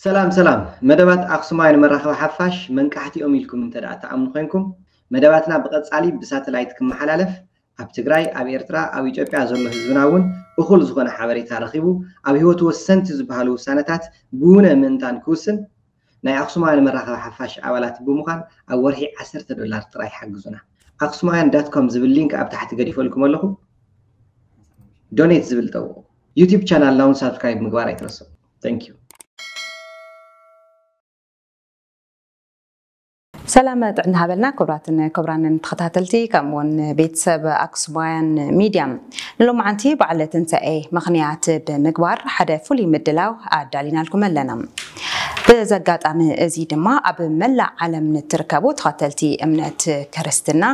ሰላም ሰላም። መደባት ኣክሱማውያን መራኸቢ ሓፋሽ መንቃሕቲ እዮም ኢልኩም እንተ ደኣ ትኣምኑ ኮይንኩም፣ መደባትና ብቐጻሊ ብሳተላይት ክመሓላለፍ፣ ኣብ ትግራይ፣ ኣብ ኤርትራ፣ ኣብ ኢትዮጵያ ዘሎ ህዝብና እውን እኹል ዝኾነ ሓበሬታ ረኺቡ፣ ኣብ ህይወቱ ወሰንቲ ዝበሃሉ ውሳነታት ብውነ ምእንታን ክውስን፣ ናይ ኣክሱማውያን መራኸቢ ሓፋሽ ኣባላት ብምዃን ኣብ ወርሒ ዓሰርተ ዶላር ጥራይ ሓግዙና። ኣክሱማውያን ዳት ኮም ዝብል ሊንክ ኣብ ታሕቲ ገዲፈልኩም ኣለኹ። ዶኔት ዝብል ጠውቑ። ዩቲዩብ ቻናልና እውን ሳብስክራይብ ምግባር ኣይትረስዑ። Thank you። ሰላም ጥዕና ሃበልና። ክቡራትን ክቡራንን ተኸታተልቲ፣ ከምኡ እውን ቤተሰብ ኣክሱማውያን ሚድያ፣ ንሎማዓንቲ በዓለ ትንሳኤ ምኽንያት ብምግባር ሓደ ፍሉይ ምድላው ኣዳሊናልኩም ኣለና። ብዘጋጣሚ እዚ ድማ ኣብ መላእ ዓለም ንትርከቡ ተኸተልቲ እምነት ክርስትና፣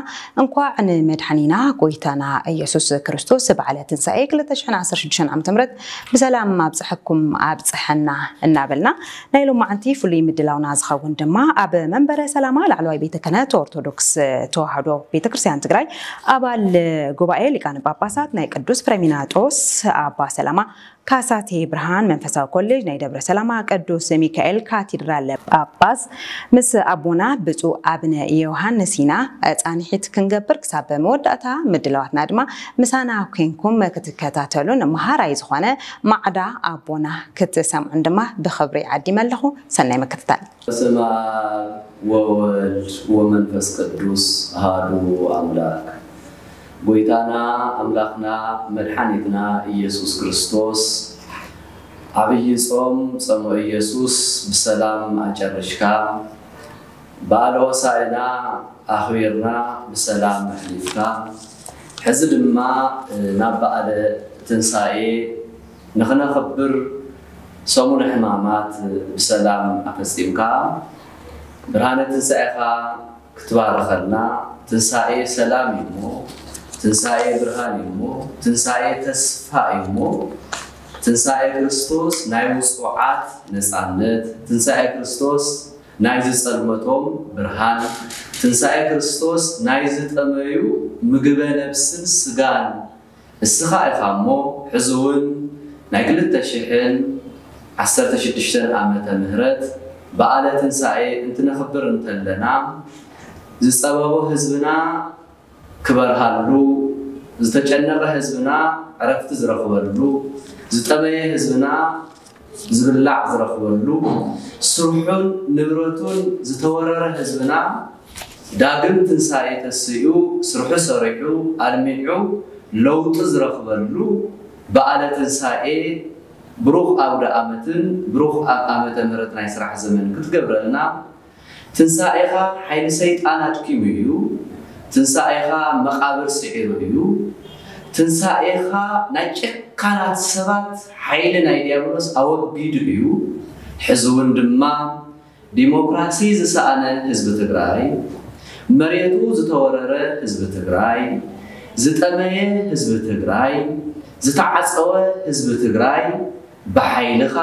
እንኳዕ ንመድሓኒና ጎይታና ኢየሱስ ክርስቶስ በዓለ ትንሳኤ ክልተ ሽሕን ዓሰርተ ሽዱሽተን ዓመተ ምህረት ብሰላም ኣብፀሐኩም ኣብፀሐና እናበልና፣ ናይ ሎማዓንቲ ፍሉይ ምድላውና ዝኸውን ድማ ኣብ መንበረ ሰላማ ላዕለዋይ ቤተ ክህነት ኦርቶዶክስ ተዋህዶ ቤተ ክርስቲያን ትግራይ ኣባል ጉባኤ ሊቃነ ጳጳሳት ናይ ቅዱስ ፍሬሚናጦስ ኣባ ሰላማ ካሳቴ ብርሃን መንፈሳዊ ኮሌጅ ናይ ደብረ ሰላማ ቅዱስ ሚካኤል ካቴድራል ጳጳስ ምስ ኣቦና ብፁዕ ኣብነ ዮሃንስ ኢና ፃንሒት ክንገብር። ክሳብ መወዳእታ ምድላዋትና ድማ ምሳና ኮንኩም ክትከታተሉን መሃራይ ዝኾነ ማዕዳ ኣቦና ክትሰምዑን ድማ ብኽብሪ ዓዲመ ኣለኹ። ሰናይ ምክትታል። በስመ አብ ወወልድ ወመንፈስ ቅዱስ አሐዱ አምላክ። ጎይታና ኣምላኽና መድሓኒትና ኢየሱስ ክርስቶስ፣ ዓብዪ ጾም ጾመ ኢየሱስ ብሰላም ኣጨርሽካ፣ በዓለ ሆሳዕና ኣኽቢርና ብሰላም ኣሕሊፍካ፣ ሕዚ ድማ ናብ በዓለ ትንሳኤ ንኽነኽብር ሰሙነ ሕማማት ብሰላም ኣፈጺምካ፣ ብርሃነ ትንሳኤኻ ክትባርኸልና። ትንሳኤ ሰላም እዩ እሞ፣ ትንሳኤ ብርሃን እዩ እሞ፣ ትንሳኤ ተስፋ እዩ እሞ፣ ትንሳኤ ክርስቶስ ናይ ውጹዓት ነጻነት፣ ትንሳኤ ክርስቶስ ናይ ዝጸልመቶም ብርሃን፣ ትንሳኤ ክርስቶስ ናይ ዝጠመዩ ምግበ ነብስን ስጋን እስኻ ኢኻ እሞ፣ ሕዚ እውን ናይ ክልተ ሽሕን ዓሰርተ ሽዱሽተን ዓመተ ምህረት በዓለ ትንሳኤ እንትነኽብር እንተለና፣ ዝጸበቦ ህዝብና ክበርሃሉ፣ ዝተጨነቐ ህዝብና ዕረፍቲ ዝረኽበሉ፣ ዝጠመየ ህዝብና ዝብላዕ ዝረኽበሉ፣ ስርሑን ንብረቱን ዝተወረረ ህዝብና ዳግም ትንሳኤ ተሲኡ፣ ስርሑ ሰሪሑ፣ ኣልሚዑ ለውጢ ዝረኽበሉ በዓለ ትንሳኤ፣ ብሩኽ ኣውደ ዓመትን ብሩኽ ዓመተ ምህረት ናይ ስራሕ ዘመን ክትገብረልና። ትንሳኤኻ ሓይሊ ሰይጣን ኣድኪሙ እዩ። ትንሳኤኻ መቓብር ስዒሩ እዩ። ትንሳኤኻ ናይ ጨካናት ሰባት ሓይሊ ናይ ዲያብሎስ ኣወጊዱ እዩ። ሕዚ እውን ድማ ዲሞክራሲ ዝሰኣነ ህዝቢ ትግራይ፣ መሬቱ ዝተወረረ ህዝቢ ትግራይ፣ ዝጠመየ ህዝቢ ትግራይ፣ ዝተዓፀወ ህዝቢ ትግራይ ብሓይልኻ፣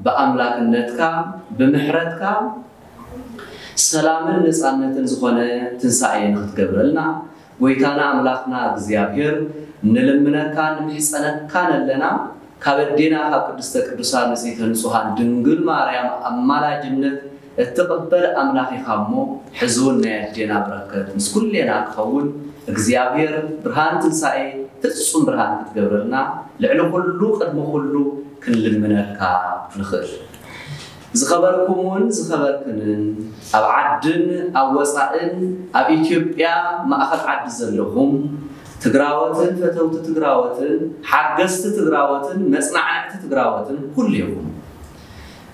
ብኣምላክነትካ፣ ብምሕረትካ ሰላምን ነፃነትን ዝኾነ ትንሳኤ ንኽትገብረልና ጎይታና ኣምላኽና እግዚኣብሔር ንልምነካ ንምሕፀነካን ኣለና። ካብ ኣዴና ካብ ቅድስተ ቅዱሳን ንጽሕተ ንጹሃን ድንግል ማርያም ኣማላጅነት እትቕበል ኣምላኽ ኢኻ እሞ፣ ሕዚ እውን ናይ ኣዴና በረከት ምስ ኩሌና ክኸውን እግዚኣብሔር ብርሃን ትንሳኤ ፍጹም ብርሃን ክትገብረልና ልዕሊ ኩሉ ቅድሚ ኩሉ ክንልምነካ ንኽእል። ዝኸበርኩምን ዝኸበርክንን ኣብ ዓድን ኣብ ወፃእን ኣብ ኢትዮጵያ ማእኸል ዓዲ ዘለኹም ትግራወትን ፈተውቲ ትግራወትን ሓገዝቲ ትግራወትን መፅናዕንዕቲ ትግራወትን ኩሉ ኢኹም።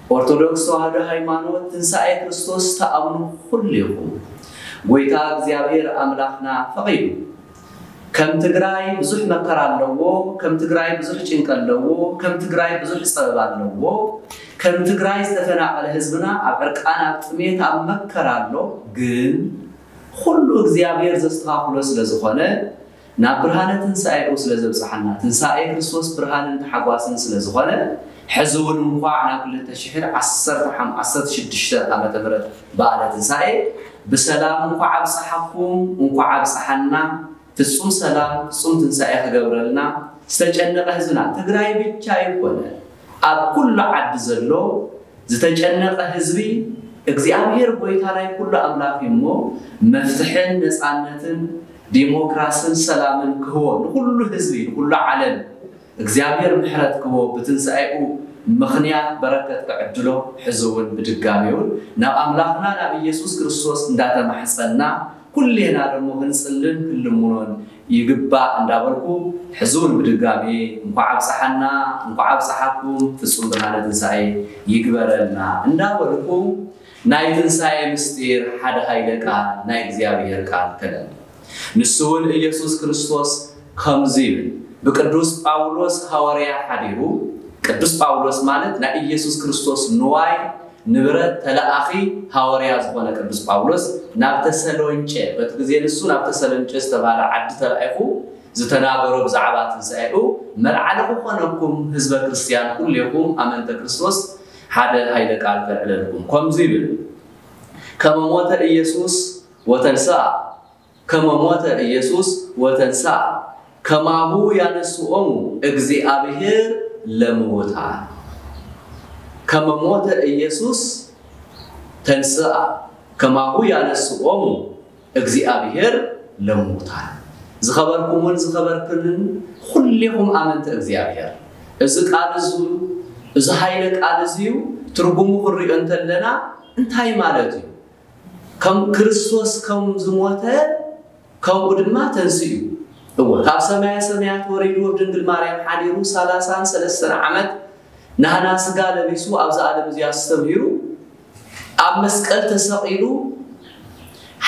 ኦርቶዶክስ ተዋህዶ ሃይማኖት ትንሳኤ ክርስቶስ ተኣምኑ ኩሉ ኢኹም። ጎይታ እግዚኣብሔር ኣምላኽና ፈቒዱ ከም ትግራይ ብዙሕ መከራ ኣለዎ፣ ከም ትግራይ ብዙሕ ጭንቂ ኣለዎ፣ ከም ትግራይ ብዙሕ ፀበባ ኣለዎ፣ ከም ትግራይ ዝተፈናቐለ ህዝብና ኣብ ዕርቃን ኣብ ጥሜት ኣብ መከራ ኣሎ። ግን ኩሉ እግዚኣብሔር ዘስተኻኽሎ ስለ ዝኾነ ናብ ብርሃነ ትንሳኤኡ ስለ ዘብፅሓና ትንሳኤ ክርስቶስ ብርሃንን ተሓጓስን ስለ ዝኾነ ሕዚ እውን እንኳዕ ናብ ክልተ ሽሕን ዓሰርተ ሓሙሽተ ዓሰርተ ሽዱሽተ ዓመተ ምህረት በዓለ ትንሳኤ ብሰላም እንኳዕ ኣብፀሓኩም እንኳዕ ኣብፀሓና። ፍጹም ሰላም ፍጹም ትንሳኤ ክገብረልና ዝተጨነቐ ህዝብና ትግራይ ብቻ ኣይኮነ ኣብ ኩሉ ዓዲ ዘሎ ዝተጨነቐ ህዝቢ እግዚኣብሔር ጎይታ ናይ ኩሉ ኣምላኽ እዩ እሞ መፍትሕን ነፃነትን ዲሞክራስን ሰላምን ክህቦ ንኹሉ ህዝቢ ንኹሉ ዓለም እግዚኣብሔር ምሕረት ክህቦ ብትንሳኤኡ ምኽንያት በረከት ክዕድሎ ሕዚ እውን ብድጋሚ እውን ናብ ኣምላኽና ናብ ኢየሱስ ክርስቶስ እንዳተማሕፀና ኩሌና ደሞ ክንጽልን ክንልምኖን ይግባእ እንዳበልኩ ሕዚ እውን ብድጋሚ እንኳዕ ኣብፀሓና እንኳዕ ኣብፀሓኩም ፍፁም ብርሃነ ትንሳኤ ይግበረልና እንዳበልኩ ናይ ትንሳኤ ምስጢር ሓደ ሃይለ ቃል ናይ እግዚኣብሔር ቃል ከነንብ ንሱ እውን ኢየሱስ ክርስቶስ ከምዚ ይብል ብቅዱስ ጳውሎስ ሃዋርያ ሓዲሩ ቅዱስ ጳውሎስ ማለት ናይ ኢየሱስ ክርስቶስ ንዋይ ንብረት ተለኣኺ ሃዋርያ ዝኾነ ቅዱስ ጳውሎስ ናብ ተሰሎንጨ በቲ ግዜ ንሱ ናብ ተሰሎንጨ ዝተባህለ ዓዲ ተላኢኹ ዝተናገሮ ብዛዕባ ትንሳኤኡ መልዓሊ ክኾነኩም ህዝበ ክርስትያን ኩሌኹም ኣመንተ ክርስቶስ ሓደ ሃይለ ቃል ከልዕለልኩም ከምዚ ይብል ከመ ሞተ ኢየሱስ ወተንስኣ ከመ ሞተ ኢየሱስ ወተንስኣ ከማሁ ያነስኦሙ እግዚኣብሔር ለምውታን ከመ ሞተ ኢየሱስ ተንስኣ ከማሁ ያነስኦሙ እግዚኣብሔር ለምውታን ዝኸበርኩምን ዝኸበርክንን ኩሌኹም ኣመንቲ እግዚኣብሔር እዚ ቃል እዚ እዚ ሃይለ ቃል እዚ እዩ ትርጉሙ ክንሪኦ እንተለና እንታይ ማለት እዩ ከም ክርስቶስ ከም ዝሞተ ከምኡ ድማ ተንስኡ እዩ እወ ካብ ሰማያ ሰማያት ወሪዱ ኣብ ድንግል ማርያም ሓዲሩ ሰላሳን ሰለስተን ዓመት ናህና ስጋ ለቢሱ ኣብዚ ዓለም እዚ ኣስተምሂሩ ኣብ መስቀል ተሰቒሉ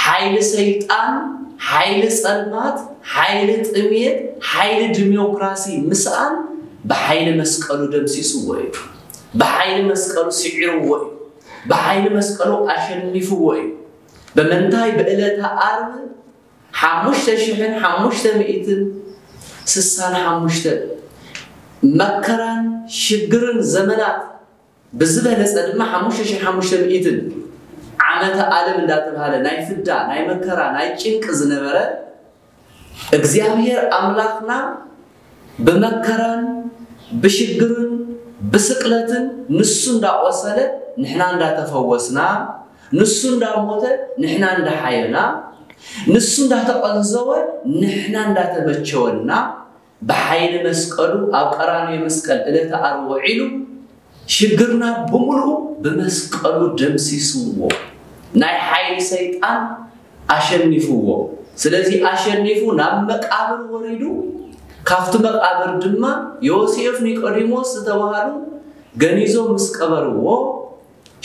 ሓይሊ ሰይጣን ሓይሊ ጸልማት ሓይሊ ጥሜት ሓይሊ ዲሞክራሲ ምስኣን ብሓይሊ መስቀሉ ደምሲስዎ እዩ ብሓይሊ መስቀሉ ስዒርዎ እዩ ብሓይሊ መስቀሉ ኣሸኒፍዎ እዩ ብምንታይ ብዕለተ ዓርብ ሓሙሽተ ሽሕን ሓሙሽተ ሚእትን ስሳን ሓሙሽተ መከራን ሽግርን ዘመናት ብዝበለፀ ድማ ሓሙሽተ ሽሕን ሓሙሽተ ሚእትን ዓመተ ዓለም እንዳተባሃለ ናይ ፍዳ ናይ መከራ ናይ ጭንቂ ዝነበረ እግዚኣብሔር ኣምላኽና ብመከራን ብሽግርን ብስቅለትን ንሱ እንዳቆሰለ ንሕና እንዳተፈወስና ንሱ እንዳሞተ ንሕና እንዳሓየና ንሱ እንዳተቐንዘወ ንሕና እንዳተመቸወና ብሓይሊ መስቀሉ ኣብ ቀራንዮ መስቀል ዕለተ ዓርቢ ውዒሉ ሽግርና ብምሉኡ ብመስቀሉ ደምሲስዎ ናይ ሓይሊ ሰይጣን ኣሸኒፍዎ ስለዚ ኣሸኒፉ ናብ መቃብር ወሪዱ ካብቲ መቃብር ድማ ዮሴፍ ኒቆዲሞስ ዝተባሃሉ ገኒዞም ምስ ቀበርዎ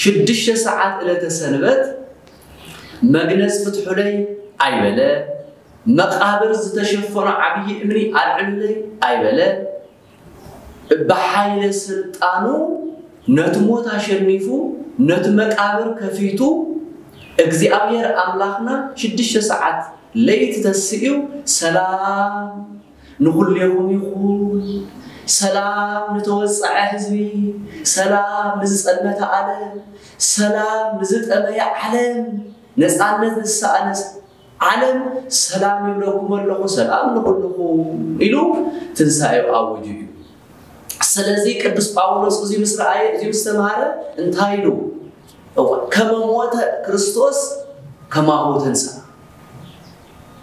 ሽዱሽተ ሰዓት ዕለተ ሰንበት መግነዝ ፍትሑለይ ኣይበለ መቃብር ዝተሸፈኖ ዓብዪ እምኒ ኣልዕሉለይ ኣይበለ ብሓይለ ስልጣኑ ነቲ ሞት ኣሸኒፉ ነቲ መቃብር ከፊቱ እግዚኣብሔር ኣምላኽና ሽዱሽተ ሰዓት ለይቲ ተስኡ ሰላም ንኹሌኹም ይኹን ሰላም ንተወፀዐ ህዝቢ ሰላም ንዝፀልመተ ዓለም ሰላም ንዝጠመየ ዓለም ነፃነት ንዝሰኣነ ዓለም ሰላም ይብለኩም ኣለኹ ሰላም ንኹልኹም ኢሉ ትንሳኤው ኣወጁ እዩ ስለዚ ቅዱስ ጳውሎስ እዚ ምስ ረኣየ እዚ ምስ ተምሃረ እንታይ ኢሉ ከመ ሞተ ክርስቶስ ከማሁ ተንሳ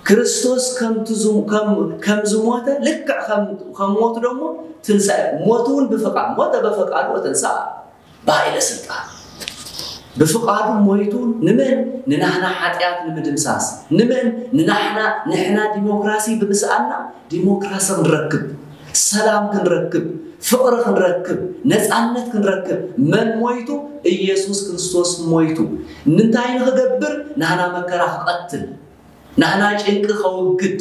ክርስቶስ ከም ዝሞተ ልክዕ ከም ሞቱ ደሞ ትንሳኤ ሞቱ እውን ብፍቃድ ሞተ በፈቃዱ ወተንሳ ብሃይለ ስልጣን ብፍቃዱ ሞይቱ ንመን ንናህና ሓጢኣት ንምድምሳስ ንመን ንናሕና ንሕና ዲሞክራሲ ብምስኣና ዲሞክራሲ ክንረክብ ሰላም ክንረክብ ፍቕሪ ክንረክብ ነፃነት ክንረክብ መን ሞይቱ ኢየሱስ ክርስቶስ ሞይቱ ንምንታይ ንክገብር ናህና መከራ ክቐትል ናህና ጭንቂ ከውግድ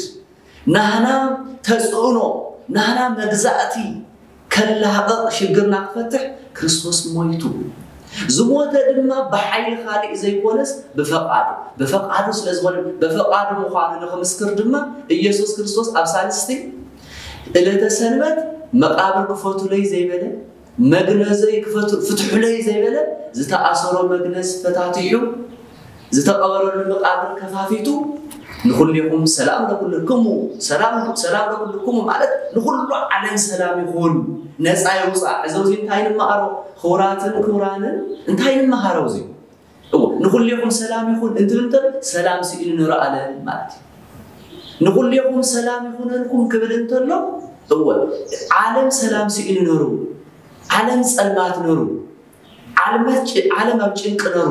ናህና ተፅዕኖ ናህና መግዛእቲ ከላቕቕ ሽግርና ክፈትሕ ክርስቶስ ሞይቱ ዝሞተ ድማ ብሓይሊ ካሊእ ዘይኮነስ ብፈቓዱ ብፈቓዱ ስለዝኾነ ብፈቓዱ ምዃኑ ንክምስክር ድማ ኢየሱስ ክርስቶስ ኣብ ሳልስቲ ዕለተ ሰንበት መቃብር ክፈቱለይ ዘይበለ መግነዘይ ፍትሑለይ ዘይበለ ዝተኣሰሮ መግነዝ ፈታቲሑ ዝተቐበረሉ መቃብር ከፋፊቱ ንኹሌኹም ሰላም ለኩልክሙ፣ ሰላም ሰላም ለኩልክሙ ማለት ንኹሉ ዓለም ሰላም ይኹን፣ ነፃ ይውፃእ። እዚ ኣብዚ እንታይ ንምሃሮ? ክቡራትን ክቡራንን እንታይ ንምሃሮ? እዚ እዎ ንኹሌኹም ሰላም ይኹን እንትብል እንተሎ ሰላም ስኢኑ ንርኢ ኣለም ማለት እዩ። ንኹሌኹም ሰላም ይኹነልኩም ክብል እንተሎ እወ ዓለም ሰላም ስኢኑ ነሩ፣ ዓለም ጸልማት ነሩ፣ ዓለም ኣብ ጭንቂ ነሩ፣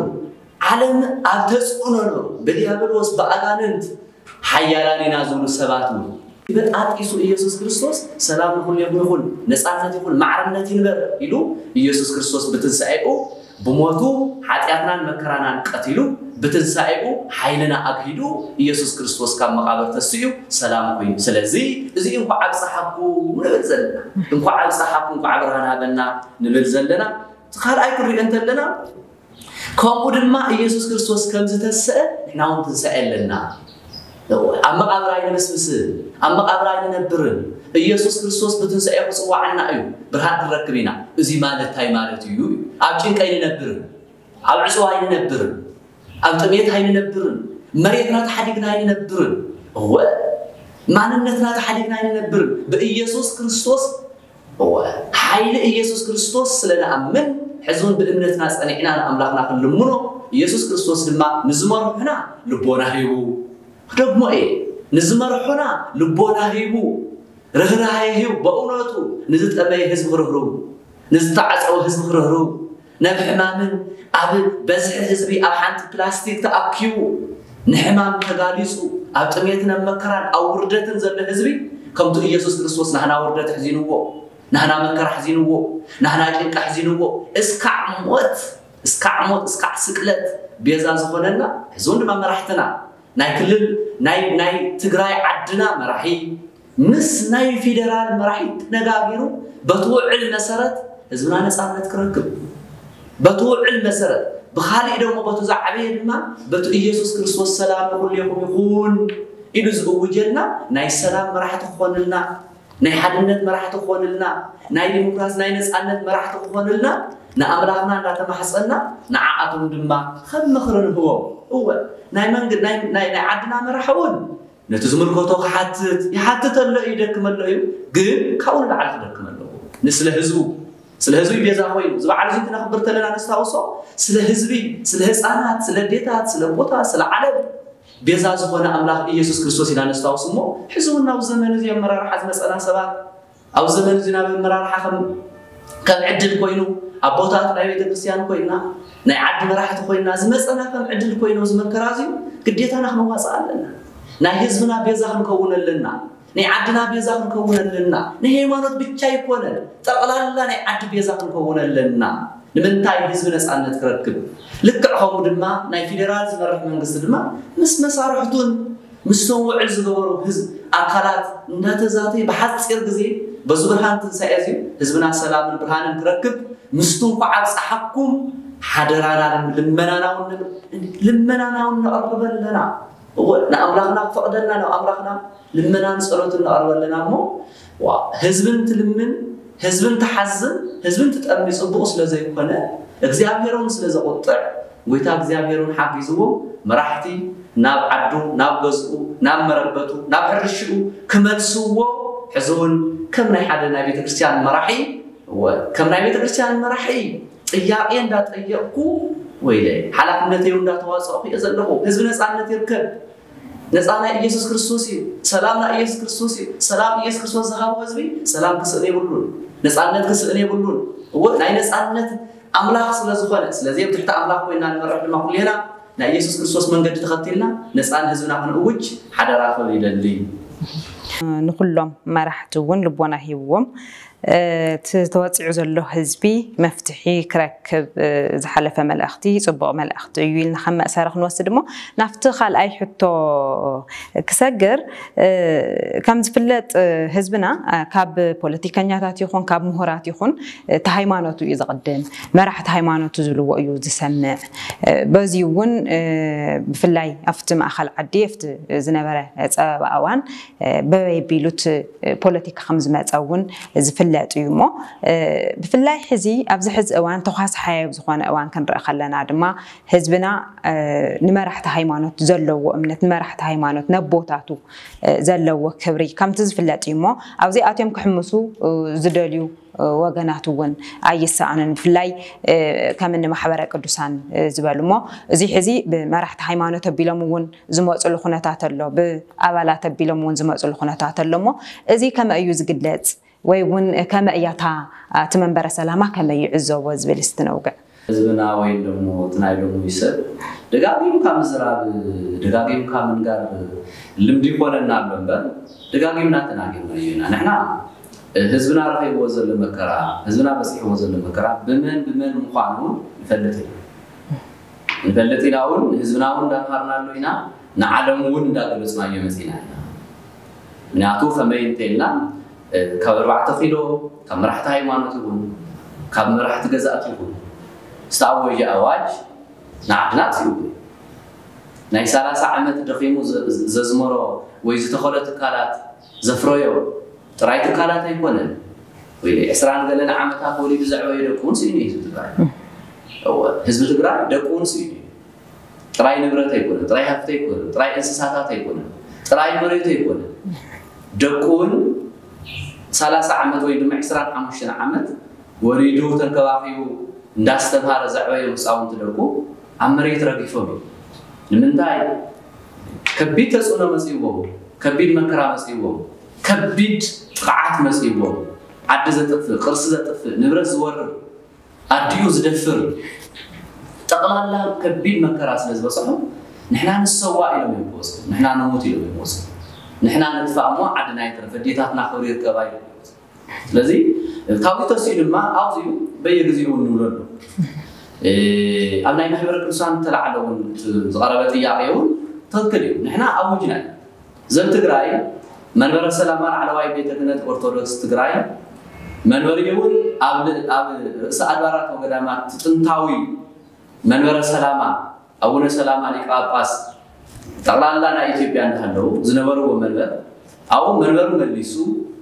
ዓለም ኣብ ተጽዕኖ ነሩ፣ ብዲያብሎስ ብኣጋንንት ሓያላን ኢና ዝብሉ ሰባት እውን በጣጢሱ ኢየሱስ ክርስቶስ ሰላም ንኹሌኹም ይኹን፣ ነፃነት ይኹን፣ ማዕርነት ይንበር ኢሉ ኢየሱስ ክርስቶስ ብትንሳኤኡ ብሞቱ ሓጢኣትናን መከራናን ቀቲሉ ብትንሳኤኡ ሓይልና ኣግሂዱ ኢየሱስ ክርስቶስ ካብ መቓብር ተስኡ ሰላም ኮይኑ። ስለዚ እዚ እንኳዕ ኣብፀሓኩም ንብል ዘለና፣ እንኳዕ ኣብፀሓኩም፣ እንኳዕ ብርሃን ሃበና ንብል ዘለና። ካልኣይ ክንሪኦ እንተለና ከምኡ ድማ ኢየሱስ ክርስቶስ ከም ዝተሰአ ንሕና እውን ትንሳኤ ኣለና። ኣብ መቓብር ኣይንብስብስን፣ ኣብ መቓብር ኣይንነብርን። ኢየሱስ ክርስቶስ ብትንሳኤ ክፅዋዓና እዩ፣ ብርሃን ክንረክብ ኢና። እዚ ማለት እንታይ ማለት እዩ? ኣብ ጭንቂ ኣይንነብርን፣ ኣብ ዕፅዋ ኣይንነብርን፣ ኣብ ጥሜት ኣይንነብርን፣ መሬትና ተሓዲግና ኣይንነብርን። እወ ማንነትና ተሓዲግና ኣይንነብርን። ብኢየሱስ ክርስቶስ እወ ሓይሊ ኢየሱስ ክርስቶስ ስለ ንኣምን ሕዚ እውን ብእምነትና ጸኒዕና ንኣምላኽና ክንልምኖ ኢየሱስ ክርስቶስ ድማ ንዝመርሑና ልቦና ሂቡ። ክደግሞ እየ፣ ንዝመርሑና ልቦና ሂቡ፣ ርህራሄ ሂቡ፣ በእውነቱ ንዝጠመየ ህዝቢ ክርህርው፣ ንዝተዓጸወ ህዝቢ ክርህርው፣ ናብ ሕማምን ኣብ በዝሒ ህዝቢ ኣብ ሓንቲ ፕላስቲክ ተኣኪቡ ንሕማም ተጋሊጹ ኣብ ጥሜትን ኣብ መከራን ኣብ ውርደትን ዘሎ ህዝቢ ከምቲ ኢየሱስ ክርስቶስ ናህና ውርደት ሕዚንዎ፣ ናህና መከራ ሕዚንዎ፣ ናህና ጭንቂ ሕዚንዎ እስካዕ ሞት እስካዕ ሞት እስካዕ ስቅለት ቤዛ ዝኾነና ሕዚ እውን ድማ መራሕትና ናይ ክልል ናይ ናይ ትግራይ ዓድና መራሒ ምስ ናይ ፌደራል መራሒ ተነጋጊሩ በቲ ውዕል መሰረት ህዝብና ነፃነት ክረክብ በቲ ውዕል መሰረት ብካሊእ ደግሞ በቲ ዝዓበየ ድማ በቲ ኢየሱስ ክርስቶስ ሰላም ንኩሌኹም ይኹን ኢሉ ዝእውጀልና ናይ ሰላም መራሕቲ ክኾንልና ናይ ሓድነት መራሕቲ ክኾንልና ናይ ዲሞክራሲ ናይ ነፃነት መራሕቲ ክኾንልና ንኣምላኽና እንዳተማሕፀና ንዓኣቶም ድማ ከም ምኽሪ ንህቦም። እወ ናይ መንግ ናይ ናይ ናይ ዓድና መራሒ እውን ነቲ ዝምልከቶ ክሓትት ይሓትት ኣሎ እዩ ይደክም ኣሎ እዩ ግን ካብኡ ንላዕሊ ክደክም ኣለዎ ንስለ ህዝቡ ስለ ህዝቢ ቤዛ ኮይኑ እዚ በዓል እዚ ክነኽብር ተለና ነስታውሶ ስለ ህዝቢ ስለ ህፃናት ስለ ኣዴታት ስለ ኣቦታት ስለ ዓለም ቤዛ ዝኾነ ኣምላኽ ኢየሱስ ክርስቶስ ኢና ነስታውስ እሞ ሕዚ እውን ናብ ዘመን እዚ ኣመራርሓ ዝመፀና ሰባት ኣብ ዘመን እዚ ናብ ኣመራርሓ ከም ከም ዕድል ኮይኑ ኣቦታት ናይ ቤተ ክርስቲያን ኮይና ናይ ዓዲ መራሕቲ ኮይና ዝመፀና ከም ዕድል ኮይኑ እዚ መከራ እዚ ግዴታና ክንዋፅእ ኣለና ናይ ህዝብና ቤዛ ክንከውን ኣለና ናይ ዓድና ቤዛ ክንከውን ኣለና ናይ ሃይማኖት ብቻ ኣይኮነን ጠቕላላ ናይ ዓዲ ቤዛ ክንከውን ኣለና ንምንታይ ህዝቢ ነፃነት ክረክብ ልክዕ ከምኡ ድማ ናይ ፌዴራል ዝመርሕ መንግስቲ ድማ ምስ መሳርሕቱን ምስቶም ውዕል ዝገበሩ ህዝብ ኣካላት እንዳተዛተየ ብሓፂር ግዜ በዚ ብርሃን ትንሳኤ እዚ ህዝብና ሰላምን ብርሃንን ክረክብ ምስቱ እንኳዕ ኣብፀሓኩም ሓደራና ልመናና እውን ንብል ልመናና እውን ነቕርብ ኣለና እወ ንኣምላኽና ክፈቕደልና ናብ ኣምላኽና ልመናን ፀሎትን ነቕርብ ኣለና እሞ ህዝብን ትልምን ህዝብን ትሓዝን ህዝብን ትጠሚ ፅቡቕ ስለ ዘይኮነ እግዚኣብሔር እውን ስለ ዘቑጥዕ ጎይታ እግዚኣብሔር እውን ሓጊዝዎም መራሕቲ ናብ ዓዱ ናብ ገዝኡ ናብ መረበቱ ናብ ሕርሽኡ ክመልስዎ ሕዚ እውን ከም ናይ ሓደ ናይ ቤተክርስትያን መራሒ እወ ከም ናይ ቤተክርስትያን መራሒ ጥያቄ እንዳጠየቅኩ ወይለ ሓላፍነተይ እንዳተዋፀእኩ እየ ዘለኹ ህዝቢ ነፃነት ይርከብ ነፃ ናይ ኢየሱስ ክርስቶስ እዩ ሰላም ናይ ኢየሱስ ክርስቶስ እዩ ሰላም ኢየሱስ ክርስቶስ ዝሃቦ ህዝቢ ሰላም ክስእን የብሉን ነፃነት ክስእን የብሉን እወ ናይ ነፃነት ኣምላኽ ስለ ዝኾነ ስለዚ ኣብ ትሕቲ ኣምላኽ ኮይና ንመርሕ ድማ ኩሌና ናይ ኢየሱስ ክርስቶስ መንገዲ ተኸቲልና ነፃን ህዝብና ክንእውጅ ሓደራ ክብል ይደሊ ንኩሎም መራሕቲ እውን ልቦና ሂብዎም እቲ ተወፂዑ ዘሎ ህዝቢ መፍትሒ ክረክብ ዝሓለፈ መልእኽቲ ፅቡቕ መልእኽቲ እዩ ኢልና ከም መእሰሪ ክንወስድ እሞ ናብቲ ካልኣይ ሕቶ ክሰግር ከም ዝፍለጥ ህዝብና ካብ ፖለቲከኛታት ይኹን ካብ ምሁራት ይኹን እቲ ሃይማኖቱ እዩ ዝቕድም መራሕቲ ሃይማኖቱ ዝብልዎ እዩ ዝሰምዕ በዚ እውን ብፍላይ ኣብቲ ማእኸል ዓዲ ኣብቲ ዝነበረ ፀበባ እዋን በበይ ቢሉት ፖለቲካ ከም ዝመፀ እውን ዝፍለጥ እዩ እሞ፣ ብፍላይ ሕዚ ኣብዚ ሕዚ እዋን ተኳስሓያይ ኣብ ዝኾነ እዋን ክንርኢ ከለና ድማ ህዝብና ንመራሕቲ ሃይማኖት ዘለዎ እምነት፣ ንመራሕቲ ሃይማኖት ነቦታቱ ዘለዎ ክብሪ ከምቲ ዝፍለጥ እዩ እሞ፣ ኣብዚኣትዮም ክሕምሱ ዝደልዩ ወገናት እውን ኣይሰኣኑን። ብፍላይ ከም እኒ ማሕበረ ቅዱሳን ዝበሉ እሞ፣ እዚ ሕዚ ብመራሕቲ ሃይማኖት ኣቢሎም እውን ዝመፅሉ ኩነታት ኣሎ፣ ብኣባላት ኣቢሎም እውን ዝመፅሉ ኩነታት ኣሎ እሞ፣ እዚ ከመይ እዩ ዝግለፅ? ወይ እውን ከመይ እያ እታ እቲ መንበረ ሰላማ ከመይ ይዕዘቦ ዝብል እስቲ ነውግዕ። ህዝብና ወይም ደግሞ እቲ ናይ ሎሚ ሰብ ደጋጊምካ ምዝራብ፣ ደጋጊምካ ምንጋር ልምዲ ይኾነና ኣሎ እምበር፣ ደጋጊምና ተናጊርናዮ ኢና። ንሕና ህዝብና ረኺብዎ ዘሎ መከራ፣ ህዝብና በፂሕዎ ዘሎ መከራ ብመን ብመን ምዃኑ ንፈልጥ ኢና። ንፈልጥ ኢና እውን፣ ንህዝብና እውን እንዳምሃርናሉ ኢና፣ ንዓለም እውን እንዳገለፅናዮ መፂና ኢና። ምክንያቱ ከመይ እንተኢልና ካብ ኣርባዕተ ኪሎ፣ ካብ መራሕቲ ሃይማኖት ይኹን ካብ መራሕቲ ገዛእቲ ይኹን ዝተኣወጀ ኣዋጅ ንዓድና ኣጥፊኡ። ናይ ሰላሳ ዓመት ደኺሙ ዘዝመሮ ወይ ዝተኸሎ ትካላት ዘፍረዮ ጥራይ ትካላት ኣይኮነን። ወይ ዕስራን ገለን ዓመታት ወሊዱ ዘዕበዮ ደቁ እውን ስኢኑ እዩ ህዝቢ ትግራይ። እወ፣ ህዝቢ ትግራይ ደቁ እውን ስኢኑ እዩ። ጥራይ ንብረት ኣይኮነን፣ ጥራይ ሃፍቲ ኣይኮነን፣ ጥራይ እንስሳታት ኣይኮነን፣ ጥራይ መሬቱ ኣይኮነን። ደቁ እውን ሰላሳ ዓመት ወይ ድማ ዕስራን ሓሙሽተን ዓመት ወሊዱ ተንከባኺቡ እንዳስተምሃረ ዘዕበዮም ህፃውንቲ ደቁ ኣብ መሬት ረጊፎም እዮም። ንምንታይ? ከቢድ ተፅዕኖ መፂእዎም፣ ከቢድ መከራ መፂእዎም፣ ከቢድ ጥቕዓት መፂእዎም፣ ዓዲ ዘጥፍእ፣ ቅርሲ ዘጥፍእ፣ ንብረት ዝወርር፣ ኣዲኡ ዝደፍር፣ ጠቕላላ ከቢድ መከራ ስለ ዝበፅሖም ንሕና ንሰዋእ ኢሎም እዮም ክወፅኡ፣ ንሕና ንሙት ኢሎም እዮም ክወፅኡ፣ ንሕና ንጥፋእ እሞ ዓድና ይትረፍ፣ ኣዴታትና ክብሪ ይርከባ ኢሎም እዮም ክወፅኡ። ስለዚ ካብዚ ተሲኡ ድማ ኣብዚኡ በየግዜኡ እውን ንብሎ ኣሎ። ኣብ ናይ ማሕበረ ቅዱሳን ተላዓለ እውን ዝቐረበ ጥያቄ እውን ትኽክል እዩ። ንሕና ኣውጅና እዩ። ዘብ ትግራይ መንበረ ሰላማ ላዕለዋይ ቤተ ክህነት ኦርቶዶክስ ትግራይ መንበሪ እውን ኣብ ርእሰ ኣድባራት ወገዳማት ጥንታዊ መንበረ ሰላማ ኣቡነ ሰላማ ሊቀ ጳጳስ ጠቕላላ ናይ ኢትዮጵያ እንዳሃለዉ ዝነበርዎ መንበር ኣብኡ መንበሩ መሊሱ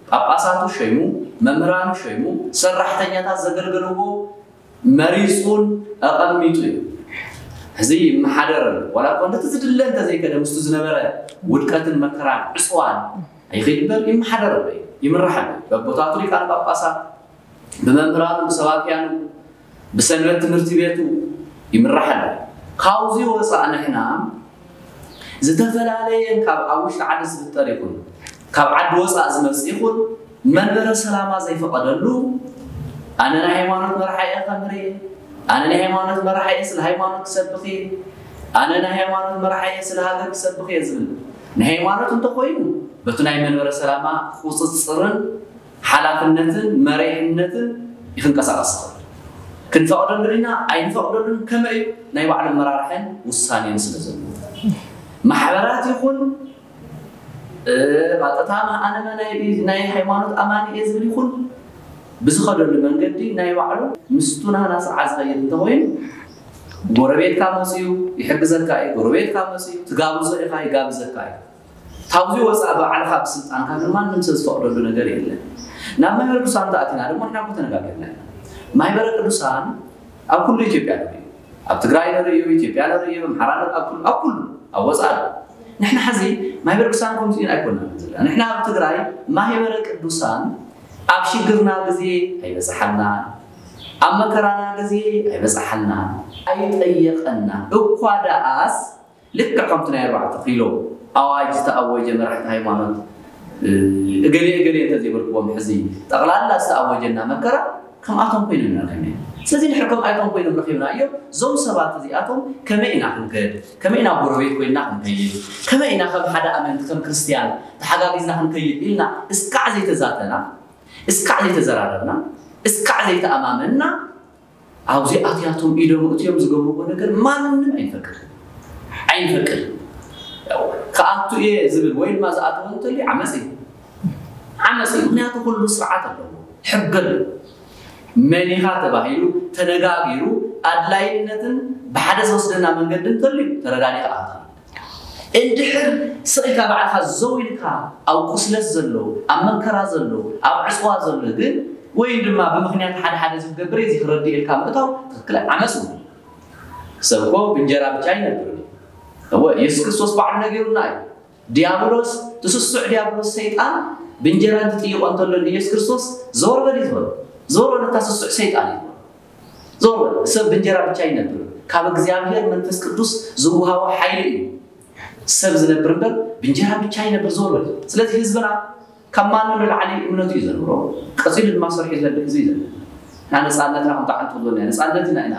ጳጳሳቱ ሸይሙ መምህራኑ ሸይሙ ሰራሕተኛታት ዘገልገልዎ መሪፁን ኣቐሚጡ እዩ። ሕዚ ይመሓደር ኣሎ። ዋላ እኳ እንደቲ ዝድለ እንተዘይከደ ምስቱ ዝነበረ ውድቀትን መከራን ዕፅዋን ኣይኸይድ እምበር ይመሓደር ኣሎ እዩ፣ ይምራሕ ኣሎ እዩ። በቦታቱ ሊቃነ ጳጳሳት፣ ብመምህራኑ፣ ብሰባክያኑ፣ ብሰንበት ትምህርቲ ቤቱ ይምራሕ ኣሎ። ካብዚ ወፃእ ንሕና ዝተፈላለየ ካብ ኣብ ውሽጢ ዓዲ ዝፍጠር ይኹን ካብ ዓዲ ወፃእ ዝመፅእ ይኹን መንበረ ሰላማ ዘይፈቐደሉ ኣነ ናይ ሃይማኖት መራሒ እየ ከምህር እየ፣ ኣነ ናይ ሃይማኖት መራሒ እየ ስለ ሃይማኖት ክሰብኽ እየ፣ ኣነ ናይ ሃይማኖት መራሒ እየ ስለ ሃገር ክሰብኽ እየ ዝብል ናይ ሃይማኖት እንተኾይኑ በቲ ናይ መንበረ ሰላማ ቁፅፅርን ሓላፍነትን መሪሕነትን ይክንቀሳቐስ ይኽእል። ክንፈቕደሉ ኢና ኣይንፈቕደሉን ከመይ እዩ ናይ ባዕሉ ኣመራርሐን ውሳኔን ስለ ዘለዎ ማሕበራት ይኹን እ፣ ቀጥታ ኣነ ናይ ናይ ሃይማኖት ኣማኒ እየ ዝብል ይኹን ብዝኸደሉ መንገዲ ናይ ባዕሉ ምስቱ ናህና ስርዓት ዝኸይድ እንተኾይኑ ጎረቤትካ መፅዩ ይሕግዘካ እዩ። ጎረቤትካ መፅዩ ትጋብዞ ኢኻ ይጋብዘካ እዩ። ካብዚ ወፃእ ባዕልኻ ብስልጣንካ ግን ማንም ሰብ ዝፈቕደሉ ነገር የለን። ናብ ማሕበረ ቅዱሳን ተኣቲና ድማ ንሕና እኮ ተነጋገርና ኢና። ማሕበረ ቅዱሳን ኣብ ኩሉ ኢትዮጵያ ንርኢ። ኣብ ትግራይ ንርእዩ፣ ኢትዮጵያ ንርእዩ፣ ኣምሓራ ንርኢ፣ ኣብ ኩሉ ኣብ ኩሉ ኣብ ወፃኢ ኣሎ። ንሕና ሕዚ ማሕበረ ቅዱሳን ከምዚ ኢና ኣይኮንና ዘለና። ንሕና ኣብ ትግራይ ማሕበረ ቅዱሳን ኣብ ሽግርና ግዜ ኣይበፅሓልና፣ ኣብ መከራና ግዜ ኣይበፅሓልና፣ ኣይጠየቐና እኳ ደኣስ ልክዕ ከምቲ ናይ ኣርባዕተ ኪሎ ኣዋጅ ዝተኣወጀ መራሕቲ ሃይማኖት እገሌ እገሌ እንተዘይበልክዎም ሕዚ ጠቕላላ ዝተኣወጀና መከራ ከምኣቶም ኮይኖም ኢና ረኺብና። ስለዚ ድሕሪ ከምኣቶም ኮይኖም ረኺብናዮ እዞም ሰባት እዚኣቶም ከመይ ኢና ክንከድ፣ ከመይ ኢና ጎረቤት ኮይንና ክንከይድ፣ ከመይ ኢና ከም ሓደ ኣመንቲ ከም ክርስትያን ተሓጋጊዝና ክንከይድ ኢልና እስካዕ ዘይተዛተና፣ እስካዕ ዘይተዘራረብና፣ እስካዕ ዘይተኣማመንና ኣብዚ ኣትያቶም ኢዶም እትዮም ዝገብርዎ ነገር ማንም ኣይንፈቅድ ኣይንፈቅድ። ክኣቱ እየ ዝብል ወይ ድማ ዝኣተወ እንተልዩ ዓመፅ እዩ። ዓመፅ እዩ። ምክንያቱ ኩሉ ስርዓት ኣለዎ፣ ሕጊ ኣለዎ። መን ኢኻ ተባሂሉ ተነጋጊሩ ኣድላይነትን ብሓደ ዝወስደና መንገዲ እንተልዩ ተረዳዲኻ ኣታ እንድሕር ስቕ ኢልካ ባዕልኻ ዘው ኢልካ ኣብ ቁስለት ዘሎ ኣብ መከራ ዘሎ ኣብ ዕፅዋ ዘሎ ግን ወይ ድማ ብምኽንያት ሓደ ሓደ ዝገብር እዚ ክረድእ ኢልካ ምእታው ትኽክል ዓመፅ እዩ። ሰብ እኮ ብእንጀራ ብቻ ኣይነብርን። እወ፣ ኢየሱስ ክርስቶስ ባዕሉ ነጊሩና እዩ። ዲያብሎስ፣ ትስሱዕ ዲያብሎስ ሰይጣን ብእንጀራ እንትጥይቆ እንተሎ ንኢየሱስ ክርስቶስ፣ "ዘወር በል" እዩ ዝበሎ። ዘወር በል፣ እታ ስሱዕ ሰይጣን እዩ ዝበሎ። ዘወር በል፣ ሰብ ብእንጀራ ብቻ ኣይነብርን። ካብ እግዚኣብሔር መንፈስ ቅዱስ ዝወሃቦ ሓይሊ እዩ ሰብ ዝነብር እምበር ብእንጀራ ብቻ ኣይነብር። ዘወር በል። ስለዚ ህዝብና ካብ ማንም ንላዕሊ እምነቱ እዩ ዘንብሮ። ቀፂሉ ድማ ሰሪሑ ዘሎ ህዝቢ እዩ ዘሎ። ንሕና ነፃነትና ከምቲ ዓንቱ ዝበልና ነፃነትና ኢና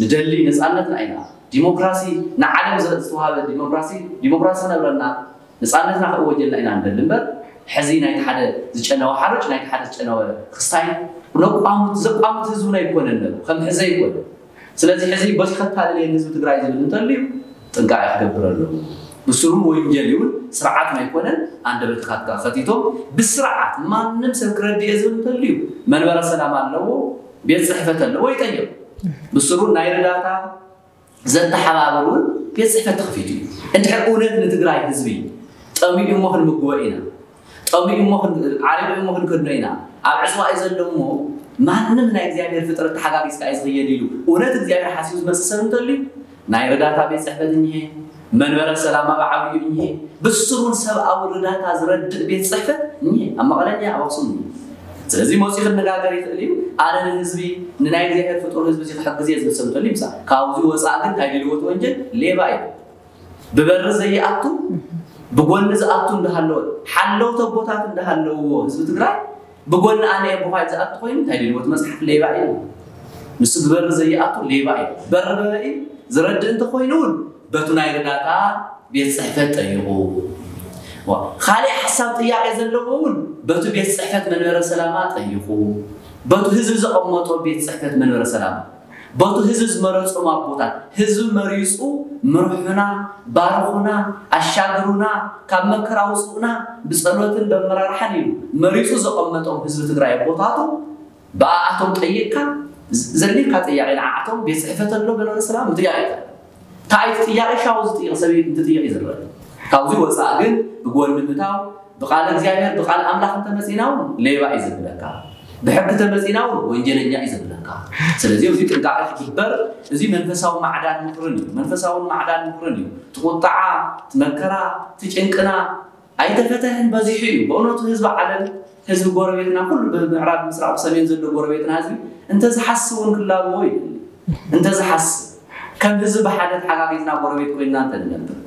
ንደሊ፣ ነፃነትና ኢና። ዲሞክራሲ ንዓለም ዘ-፣ ዝተዋሃበ ዲሞክራሲ፣ ዲሞክራሲ ክነብረና፣ ነፃነትና ክእወጀልና ኢና ንደሊ እምበር፣ ሕዚ ናይቲ ሓደ ዝጨነወ ሓሩጭ፣ ናይቲ ሓደ ዝጨነወ ክስታይ ነቋሙት፣ ዘቋሙት ህዝብና ኣይኮነን ነሩ፣ ከም ሕዚ ኣይኮነን። ስለዚ ሕዚ በዚ ከታልል እየ ንህዝቢ ትግራይ ዝብል እንተልዩ ጥንቃቄ ክገብር ኣለዎ። ብስሩ ወንጀል ይውን ስርዓት ኣይኮነን። ኣንደበትካ ከቲቶም ብስርዓት ማንም ሰብ ክረድእ እየ ዝብል እንተልዩ መንበረ ሰላም ኣለዎ፣ ቤት ፅሕፈት ኣለዎ፣ ይጠየቕ። ብስሩ ናይ ርዳታ ዘተሓባብር እውን ቤት ፅሕፈት ተኸፊቱ እዩ። እንድሕር እውነት ንትግራይ ህዝቢ ጠሚኡ እሞ ክንምግቦ ኢና፣ ጠሚኡ እሞ ክን-፣ ዓሪቑ እሞ ክንከድኖ ኢና፣ ኣብ ዕፅዋ እዩ ዘሎ እሞ ማንም ናይ እግዚኣብሔር ፍጥረት ተሓጋጊዝካ እዩ ዝኽየድ ኢሉ እውነት እግዚኣብሔር ሓሲቡ ዝመፅእ ሰብ እንተልዩ ናይ ርዳታ ቤት ፅሕፈት እኒሄ፣ መንበረ ሰላም ኣብ ዓብዩ እኒሄ፣ ብስሩን ሰብኣዊ ርዳታ ዝረድእ ቤት ፅሕፈት እኒሄ፣ ኣብ መቐለ እኒሄ፣ ኣብ ኣክሱም እኒሄ። ስለዚ መፂኡ ክነጋገር ይኽእል እዩ። ኣነ ንህዝቢ፣ ንናይ እግዚኣብሔር ፍጡር ህዝቢ እዚ ክሕግዝ እየ ዝብል ሰብ እንተልዩ ይምፃእ። ካብዚ ወፃእ ግን እንታይ ድልዎት ወንጀል ሌባ እዩ። ብበሪ ዘይኣቱ ብጎኒ ዝኣቱ እንዳሃለወ፣ ሓለውቲ ኣቦታት እንዳሃለውዎ ህዝቢ ትግራይ ብጎኒ ኣነ ኣቦኻይ ዝኣቱ ኮይኑ እንታይ ድልዎት መፅሓፍ ሌባ እዩ። ንሱ ብበሪ ዘይኣቱ ሌባ እዩ። በሪ በበይ ዝረድእ እንተኮይኑ እውን በቱ ናይ ርዳታ ቤት ፅሕፈት ጠይቑ። ዋ፣ ካልእ ሓሳብ ጥያቄ ዘለዎ እውን በቱ ቤት ፅሕፈት መንበረ ሰላማ ጠይቑ። በቱ ህዝቢ ዘቐመጦ ቤት ፅሕፈት መንበረ ሰላማ፣ በቱ ህዝቢ ዝመረፆም ኣቦታት፣ ህዝቢ መሪፁ ምርሑና፣ ባርኹና፣ ኣሻግሩና፣ ካብ መከራ ውፅኡና ብፀሎትን በመራርሓን ኢሉ መሪፁ ዘቐመጦም ህዝቢ ትግራይ ኣቦታቱ ብኣኣቶም ጠይቕካ፣ ዘ-፣ ዘድልየካ ጥያቄ ንዓኣቶም ቤት ፅሕፈት ኣሎ መንበረ ሰላም ምጥያቕ ይከኣል። እንታይ እቲ ጥያቄ ሻው ዝጥይቕ ሰብ እንትጥይቕ እዩ ዝረአ። ካብዚ ወፃእ ግን ብጎኒ ምታው ብቃል እግዚኣብሔር ብቃል ኣምላኽ እንተመፂና እውን ሌባ እዩ ዘብለካ፣ ብሕጊ ተመፂና እውን ወንጀለኛ እዩ ዘብለካ። ስለዚ እዚ ጥንቃቄ ክግበር፣ እዚ መንፈሳዊ ማዕዳን ምኽርን እዩ። መንፈሳውን ማዕዳን ምኽርን እዩ። እቲ ቁጣዓ፣ እቲ መከራ፣ እቲ ጭንቅና ኣይተፈተሕን በዚሑ እዩ። በእውነቱ ህዝቢ ዓለም፣ ህዝቢ ጎረቤትና ኩሉ ብምዕራብ ምስራቅ ብሰሜን ዘሎ ጎረቤትና ህዝቢ እንተዝሓስብ እውን ክላበዎ እዩ። እንተዝሓስብ ከም ህዝቢ ብሓደ ተሓጋጊዝና ጎረቤት ኮይንና እንተንነብር፣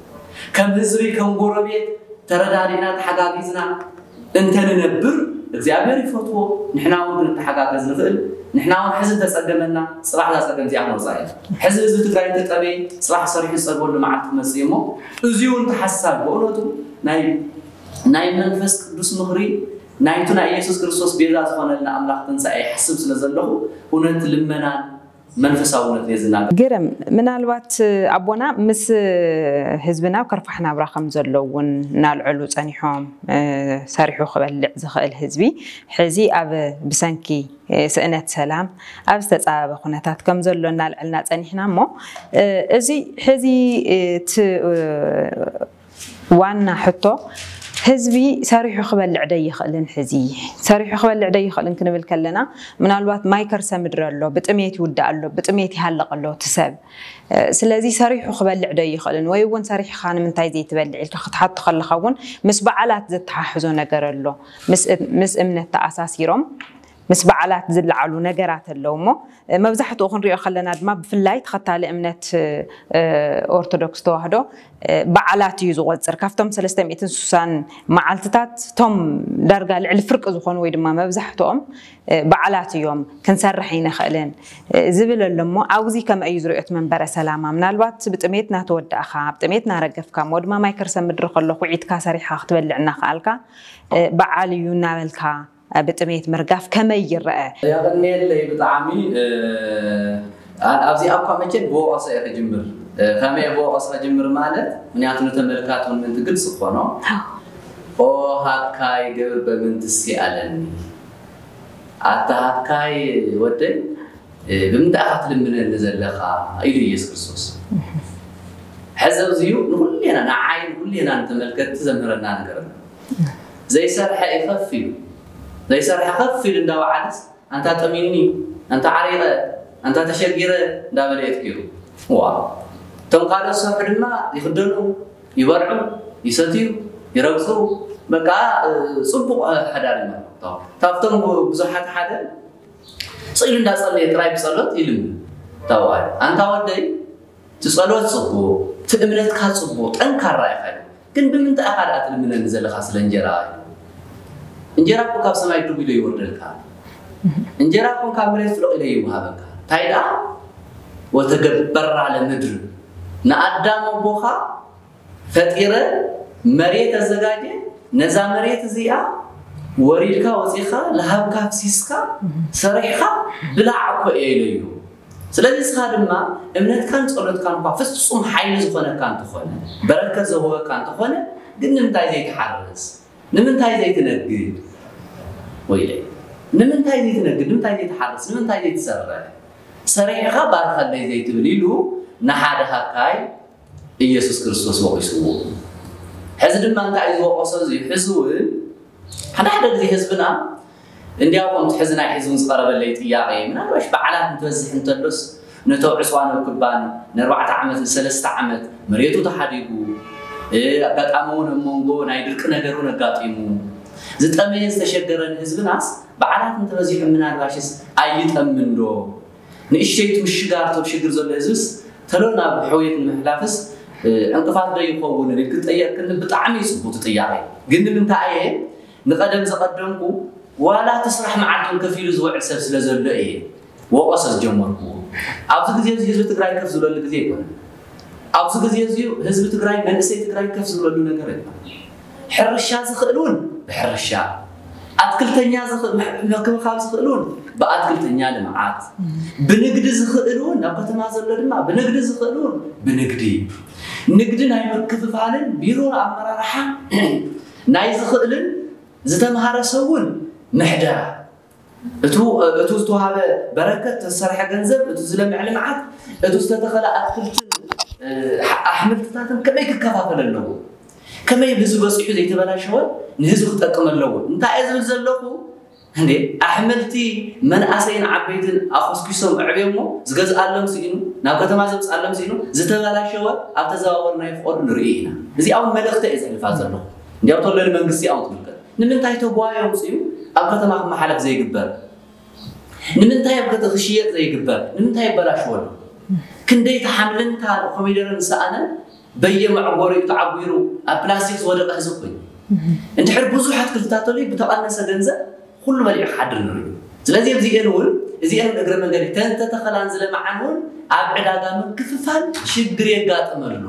ከም ህዝቢ ከም ጎረቤት ተረዳዲእና ተሓጋጊዝና እንተንነብር እግዚኣብሔር ይፈትዎ። ንሕና እውን ክንተሓጋገዝ ንኽእል። ንሕና እውን ሕዚ እንተጸገመና ጽባሕ እዛ ጸገም እዚኣ ክነውፃ እያ። ሕዚ ህዝቢ ትግራይ እንተጠመየ ጽባሕ ሰሪሑ ዝጸግበሉ መዓልቲ ክመጽእ እሞ እዚኡ እውን ተሓሳቢ ብእውነቱ ናይ ናይ መንፈስ ቅዱስ ምኽሪ ናይቱ ናይ ኢየሱስ ክርስቶስ ቤዛ ዝኾነልና ኣምላኽ ትንሳኤ ይሓስብ ስለ ዘለኹ እውነት ልመናን መንፈሳውነትን እየ ዝናገር። ግርም፣ ምናልባት ኣቦና ምስ ህዝብና ኣብ ከርፋሕ ናብራ ከም ዘሎ እውን እናልዐሉ ጸኒሖም፣ እ፣ ሰሪሑ ክበልዕ ዝኽእል ህዝቢ ሕዚ ኣብ ብሰንኪ፣ እ፣ ስእነት ሰላም ኣብ ዝተጻበበ ኩነታት ከም ዘሎ እናልዐልና ጸኒሕና እሞ፣ እ፣ እዚ ሕዚ፣ እ፣ እቲ፣ እ፣ ዋና ሕቶ ህዝቢ ሰሪሑ ክበልዕ ደይኽእልን ሕዚ ሰሪሑ ክበልዕ ደይኽእልን ክንብል ከለና ምናልባት ማይ ከርሰ ምድሪ ኣሎ፣ ብጥሜት ይውዳእ ኣሎ፣ ብጥሜት ይሃልቕ ኣሎ እቲ ሰብ። እ፣ ስለዚ ሰሪሑ ክበልዕ ደይኽእልን ወይ እውን ሰሪሕኻ ንምንታይ ዘይትበልዕ ኢልካ ክትሓቶ ከለኻ እውን ምስ በዓላት ዘተሓሕዞ ነገር ኣሎ። ምስ እ-፣ ምስ እምነት ተኣሳሲሮም ምስ በዓላት ዝለዓሉ ነገራት ኣለዉ እሞ፣ እ፣ መብዛሕትኡ ክንሪኦ ከለና ድማ ብፍላይ ተኸታሊ እምነት፣ እ፣ ኦርቶዶክስ ተዋህዶ፣ እ፣ በዓላት እዩ ዝቖጽር። ካብቶም ሰለስተ ሚእትን ስሳን መዓልትታት እቶም ዳርጋ ልዕሊ ፍርቂ ዝኾኑ ወይ ድማ መብዛሕትኦም፣ እ፣ በዓላት እዮም፣ ክንሰርሕ ኣይንኽእልን፣ እ፣ ዝብል ኣሎ እሞ፣ ኣብዚ ከመይ እዩ ዝሪኦ እቲ መንበረ ሰላማ? ምናልባት ብጥሜት እናተወዳእኻ፣ ብጥሜት እናረገፍካ፣ እሞ ድማ ማይ ከርሰ ምድሪ ከሎ ኩዒትካ ሰሪሕኻ ክትበልዕ እናኸኣልካ፣ እ፣ በዓል እዩ እናበልካ፣ ብጥሜት ምርጋፍ ከመይ ይረአ? የቐንየለይ ብጣዕሚ፣ እ፣ ኣ-፣ ኣብዚኣ እኳ መቸም ብወቐሳ እየ ክጅምር። እ፣ ከመይ ብወቐሳ ክጅምር ማለት፣ ምኽንያቱ ንተመልካቲ እውን ምእንቲ ግልፂ ክኾኖ፣ "ኦ ሃካይ ገብር በምንትሲ ኣለኒ፣ ኣታ ሃካይ ወደይ፣ እ፣ ብምንታይ ኢኻ ትልምነኒ ዘለኻ?" ኢሉ ኢየሱስ ክርስቶስ። ሕዚ ኣብዚ እዩ ንኹሌና፣ ንዓይ ንኹሌና ንተመልከትቲ ዘምህረና ነገር ኣሎ። ዘይሰርሐ እዩ ከፍ ኢሉ። ዘይሰርሐ ከፍ ኢሉ እንዳወዓለስ ኣንታ ጠሚኒ፣ ኣንታ ዓሪቐ፣ ኣንታ ተሸጊረ እንዳበለ የፍኪሩ። ዋ እቶም ካልኦት ዝሰርሑ ድማ ይኽደኑ፣ ይበልዑ፣ ይሰትዩ፣ ይረግፁ። በቃ ጽቡቕ ሓዳር ይመርሑ። ካብቶም ብዙሓት ሓደ ስኢሉ እንዳጸለየ ጥራይ ብጸሎት ይልምን። ታዋል ኣንታ ወደይ እቲ ጸሎት ጽቡቕ፣ እቲ እምነትካ ጽቡቕ፣ ጠንካራ ኢኻ። ግን ብምንታይ ኢኻ ደኣ ትልምነኒ ዘለኻ ስለ እንጀራ? እንጀራ እኮ ካብ ሰማይ ዱብ ኢሉ ይወርደልካ። እንጀራ እኮ ካብ መሬት ፍሉቕ ኢለ ይወሃበካ። እንታይ ደኣ ወተገበራ ለምድር፣ ንኣዳም ኣቦኻ ፈጢረ መሬት ኣዘጋጀ። ነዛ መሬት እዚኣ ወሪድካ ወፂኻ ለሃብካ ፍሲስካ ሰሪሕካ ብላዕ እኮ እየ ኢለዮ። ስለዚ እስኻ ድማ እምነትካን ጸሎትካን እኳ ፍጹም ሓይሊ ዝኾነካ እንተኾነ፣ በረከት ዘውህበካ እንተኾነ፣ ግን ንምንታይ ዘይትሓርስ? ንምንታይ ዘይትነግድ? ወይለይ፣ ንምንታይ ዘይትነግድ? ንምንታይ ዘይትሓርስ? ንምንታይ ዘይትሰርሕ? ሰሪሕኻ ባርኸለይ ዘይትብል ኢሉ ንሓደ ሃካይ ኢየሱስ ክርስቶስ ወቒስዎ። ሕዚ ድማ እንታይ እዩ ዝወቐሶ? እዚ ሕዚ እውን ሓደ ሓደ ግዜ ህዝብና እንዲያው ከምቲ ሕዚ ናይ ሕዚ እውን ዝቐረበለይ ጥያቄ፣ ምናልባሽ በዓላት እንትበዝሕ እንተሎስ ነተው ዕፅዋን ኣብ ክባን ንኣርባዕተ ዓመት ንሰለስተ ዓመት መሬቱ ተሓዲጉ፣ እ፣ ኣጋጣሚ እውን ኣብ መንጎ ናይ ድርቂ ነገር እውን ኣጋጢሙ ዝጠመየ ዝተሸገረ ንህዝብናስ በዓላት እንተበዚሑ ምናልባሽስ ኣይጠምን ዶ? ንእሽተይቱ ምሽጋር ቶም ሽግር ዘሎ ህዝብስ ተሎ ናብ ሕውየት ንምሕላፍስ፣ እ፣ ዕንቅፋት ዶ ይኸውን ኢልክ ትጠየቅ ክንብል ብጣዕሚ እዩ ጽቡቅ ጥያቄ። ግን ንምንታይ እየ ንቐደም ዘቐደምኩ ዋላ እቲ ስራሕ መዓልቱን ከፊሉ ዝውዕል ሰብ ስለ ዘሎ እየ ወቐሰ ዝጀመርኩዎ። ኣብዚ ግዜ እዚ ህዝቢ ትግራይ ከፍ ዝብለሉ ግዜ ኣይኮነን። ኣብዚ ግዜ እዚ ህዝቢ ትግራይ መንእሰይ ትግራይ ከፍ ዝብለሉ ነገር የለን። ሕርሻ ዝኽእል እውን ብሕርሻ ኣትክልተኛ ምክብኻብ ዝኽእል እውን ብኣትክልተኛ ልምዓት ብንግዲ ዝኽእል እውን ናብ ከተማ ዘሎ ድማ ብንግዲ ዝኽእል እውን ብንግዲ ንግዲ ናይ ምክፍፋልን ቢሮ ኣመራርሓ ናይ ዝኽእልን ዝተምሃረ ሰብ እውን ምሕደራ እቱ ዝተዋሃበ በረከት ዝተሰርሐ ገንዘብ እቱ ዝለምዕ ልምዓት እቱ ዝተተኸለ ኣትክልትን ኣሕምልትታትን ከመይ ክከፋፈል ኣለዎ? ከመይ ህዝቢ በፂሑ ዘይተበላሸወ ንህዝቢ ክጠቅም ኣለዎ? እንታይ እየ ዝብል ዘለኹ? እንዴ ኣሕምልቲ መናእሰይን ዓበይትን ኣኾስኪሶም ኣዕብዮሞ ዝገዝኣሎም ስኢኑ ናብ ከተማ ዘምፅኣሎም ስኢኑ ዝተበላሸወ ኣብ ተዘዋወርናዮ ፍቐዱ ንርኢ ኢና። እዚኣ እውን መልእኽቲ እየ ዘሕልፋ ዘለኹ። እንዲያው ተሎ ንመንግስቲ እውን ትምልከት። ንምንታይ ተጓዮም ፅዩ ኣብ ከተማ ክመሓለፍ ዘይግበር? ንምንታይ ኣብ ከተማ ክሽየጥ ዘይግበር? ንምንታይ ይበላሽወሉ? ክንደይ ተሓምልን ኮሚደረን ዝሰኣነ በየመዕጎሪኡ ተዓጒሩ ኣብ ፕላስቲክ ዝወደቐ ህዝቢ ኮይኑ እንድሕር ብዙሕ ኣትክልትታት ተልዩ ብተቐነሰ ገንዘብ ኩሉ በሊዑ ክሓድር ንርኢ። ስለዚ ኣብዚኤን እውን እዚኤን እውን እግረ መንገዲ ተንተተኸላን ዝለመዓን እውን ኣብ ዕዳጋ ምክፍፋል ሽግር የጋጥመሉ።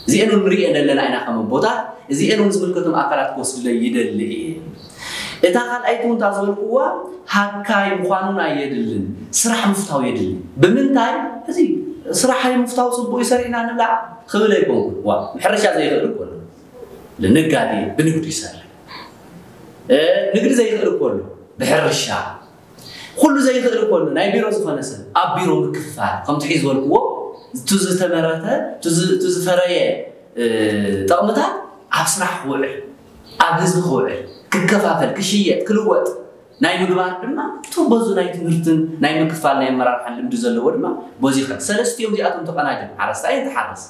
እዚኤን እውን ንሪኤን ኣለና ኢና ከም ኣቦታት፣ እዚኤን እውን ዝምልከቶም ኣካላት ክወስድለይ ይደሊ እየ። እታ ካልኣይቲ እውን እታ ዝበልኩዋ ሃካይ ምዃኑን ኣየድልን፣ ስራሕ ምፍታው የድሊ። ብምንታይ? እዚ ስራሕ ምፍታው ፅቡቅ እዩ ሰሪሕና ንብላዕ ክብል ኣይኮንኩን። ዋ ሕርሻ ዘይኽእል እኮ ኣሎ። ንጋዴ ብንግዱ ይሰርሕ። ንግዲ ዘይኽእል እኮ ኣሎ ብሕርሻ። ኩሉ ዘይኽእል እኮ ኣሎ ናይ ቢሮ ዝኾነ ሰብ ኣብ ቢሮ ምክፍፋል ከምቲ ሒዝ ዝበልክዎ እቲ ዝተመረተ እቲ ዝፈረየ ጠቕምታት ኣብ ስራሕ ክውዕል ኣብ ህዝቢ ክውዕል ክከፋፈል ክሽየጥ ክልወጥ ናይ ምግባር ድማ እቲ በዙ ናይ ትምህርትን ናይ ምክፋል ናይ ኣመራርሓን ልምዲ ዘለዎ ድማ በዚ ይኸድ። ሰለስቲኦም እዚኣቶም ተቐናጅም ሓረስታይ እንትሓርስ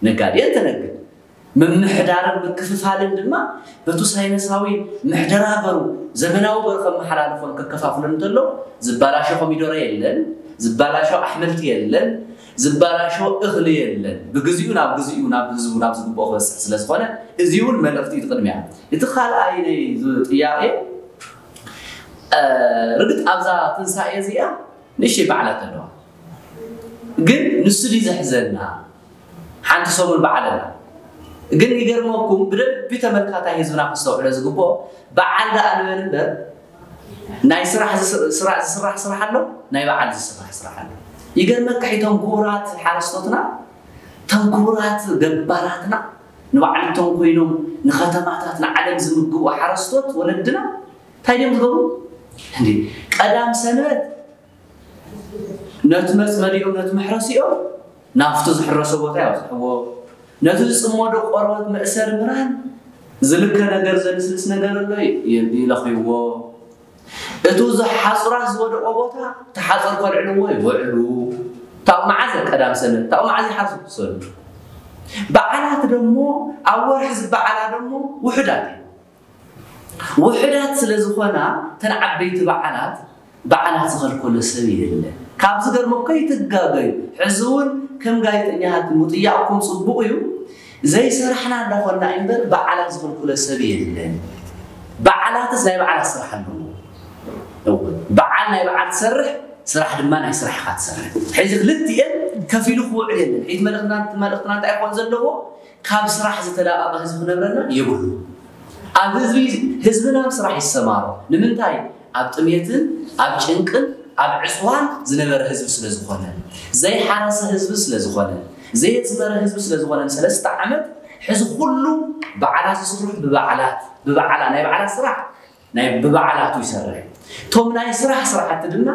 ነጋዴ እንትነግድ ምምሕዳርን ምክፍፋልን ድማ በቱ ሳይነሳዊ ምሕደራ ገሩ ዘመናዊ ገሩ ከመሓላልፎን ከከፋፍሎን እንተሎ ዝባላሾ ኮሚዶረ የለን፣ ዝባላሾ ኣሕምልቲ የለን፣ ዝባላሾ እኽሊ የለን። ብግዚኡ ናብ ግዚኡ ናብ ህዝቡ ናብ ዝግብኦ ክበፅሕ ስለ ዝኾነ እዚ እውን መልእኽቲ እዩ። እቲ ቅድሚያ እቲ ካልኣይ ናይ ጥያቄ ርግጥ ኣብዛ ትንሳኤ እዚኣ ንእሽተይ በዓላት ኣለዋ። ግን ንሱ ድዩ ዘሕዘና? ሓንቲ ሰሙን በዓል ኣላ። ግን ይገርመኩም ብደንቢ ተመልካታይ ህዝብና ክስተውዕሎ ዝግብኦ በዓል ደኣ ንበል እምበር ናይ ስራሕ ዝስራሕ ስራሕ ኣሎ ናይ በዓል ዝስራሕ ስራሕ ኣሎ። ይገርመካ ሒቶም ክቡራት ሓረስቶትና ቶም ክቡራት ገባራትና ንባዕልቶም ኮይኖም ንኸተማታት ንዓለም ዝምግቡ ሓረስቶት ወለድና እንታይ ድዮም ዝገብሩ? እንዴ ቀዳም ሰንበት ነቲ መፅመዲኦም ነቲ መሕረሲኦም ናብቲ ዝሕረሶ ቦታ ይበፅሕዎ። ነቲ ዝፅመዶ ቆርበት መእሰሪ ምራን ዝልከ ነገር ዘልስልስ ነገር ኣሎ ይለኽይዎ። እቱ እዚ ሓፁራት ዝወደቆ ቦታ እቲ ሓፀር ከልዕልዎ ይውዕሉ። ታብ መዓዘ ቀዳም ሰንበት ታብ መዓዘ ይሓርሱ ክሰሉ። በዓላት ደሞ ኣብ ወርሒ ዝበዓላ ደሞ ውሑዳት እዩ። ውሑዳት ስለ ዝኾና ተን ዓበይቲ በዓላት በዓላት ዝኸልከሎ ሰብ የለ። ካብ ዝገርመ ከይትጋገዩ። ሕዚ እውን ከም ጋዜጠኛታት ምጥያቕኩም ፅቡቕ እዩ። ዘይሰራሕና እንዳኾንና እምበር በዓላት ዝኸልከሎ ሰብ የለን። በዓላትስ ናይ በዓላት ስራሕ ኣለዎ። በዓል ናይ በዓል ትሰርሕ፣ ስራሕ ድማ ናይ ስራሕካ ትሰርሕ። ሕዚ ክልቲኤን ከፊሉ ክውዕል የለን። ሒት መልእኽትና መልእኽትና እንታይ ይኾን ዘለዎ? ካብ ስራሕ ዝተላቐቐ ህዝቢ ክነብረና የብሉ። ኣብ ህዝቢ ህዝብና ኣብ ስራሕ ይሰማሮ። ንምንታይ? ኣብ ጥሜትን ኣብ ጭንቅን ኣብ ዕፅዋን ዝነበረ ህዝቢ ስለ ዝኾነ፣ ዘይሓረሰ ህዝቢ ስለ ዝኾነ፣ ዘየዝመረ ህዝቢ ስለ ዝኾነ ንሰለስተ ዓመት ሕዚ ኩሉ በዓላት ዝስርሑ ብበዓላት ብበዓላ ናይ በዓላት ስራሕ ናይ ብበዓላቱ ይሰርሕ። እቶም ናይ ስራሕ ስራሕቲ ድማ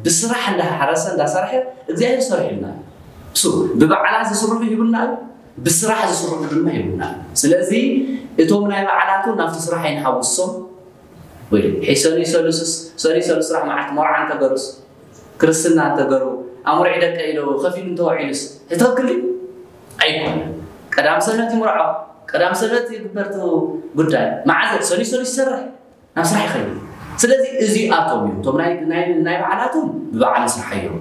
ብስራሕ እንዳሓረሰ እንዳሰርሐ እግዚኣብሔር ሰሪሑልና እዩ። እሱ ብበዓላት ዝስርሑ ይብልና እዩ፣ ብስራሕ ዝስርሑ ድማ ይብልና እዩ። ስለዚ እቶም ናይ በዓላቱ ናብቲ ስራሕ ኣይንሓውሶም። ወይ ሕሰኑ ይሰሉስስ ሰኑ ይሰሉ ስራሕ መዓት መርዓ እንተገሩስ ክርስትና እንተገሩ ኣምርዒ ደቀ ኢሎ ከፊሉ እንተወዒሉስ ትኽክል ድዩ? ኣይኮነን። ቀዳም ሰንበት ይምርዖ፣ ቀዳም ሰንበት ይግበር እቲ ጉዳይ። መዓዘ ሰኑ ይሰሉ ይሰርሕ ናብ ስራሕ ይኸይድ። ስለዚ እዚኣቶም እዮም እቶም ናይ ናይ ናይ በዓላቶም ብበዓል ንስራሕ እዮም።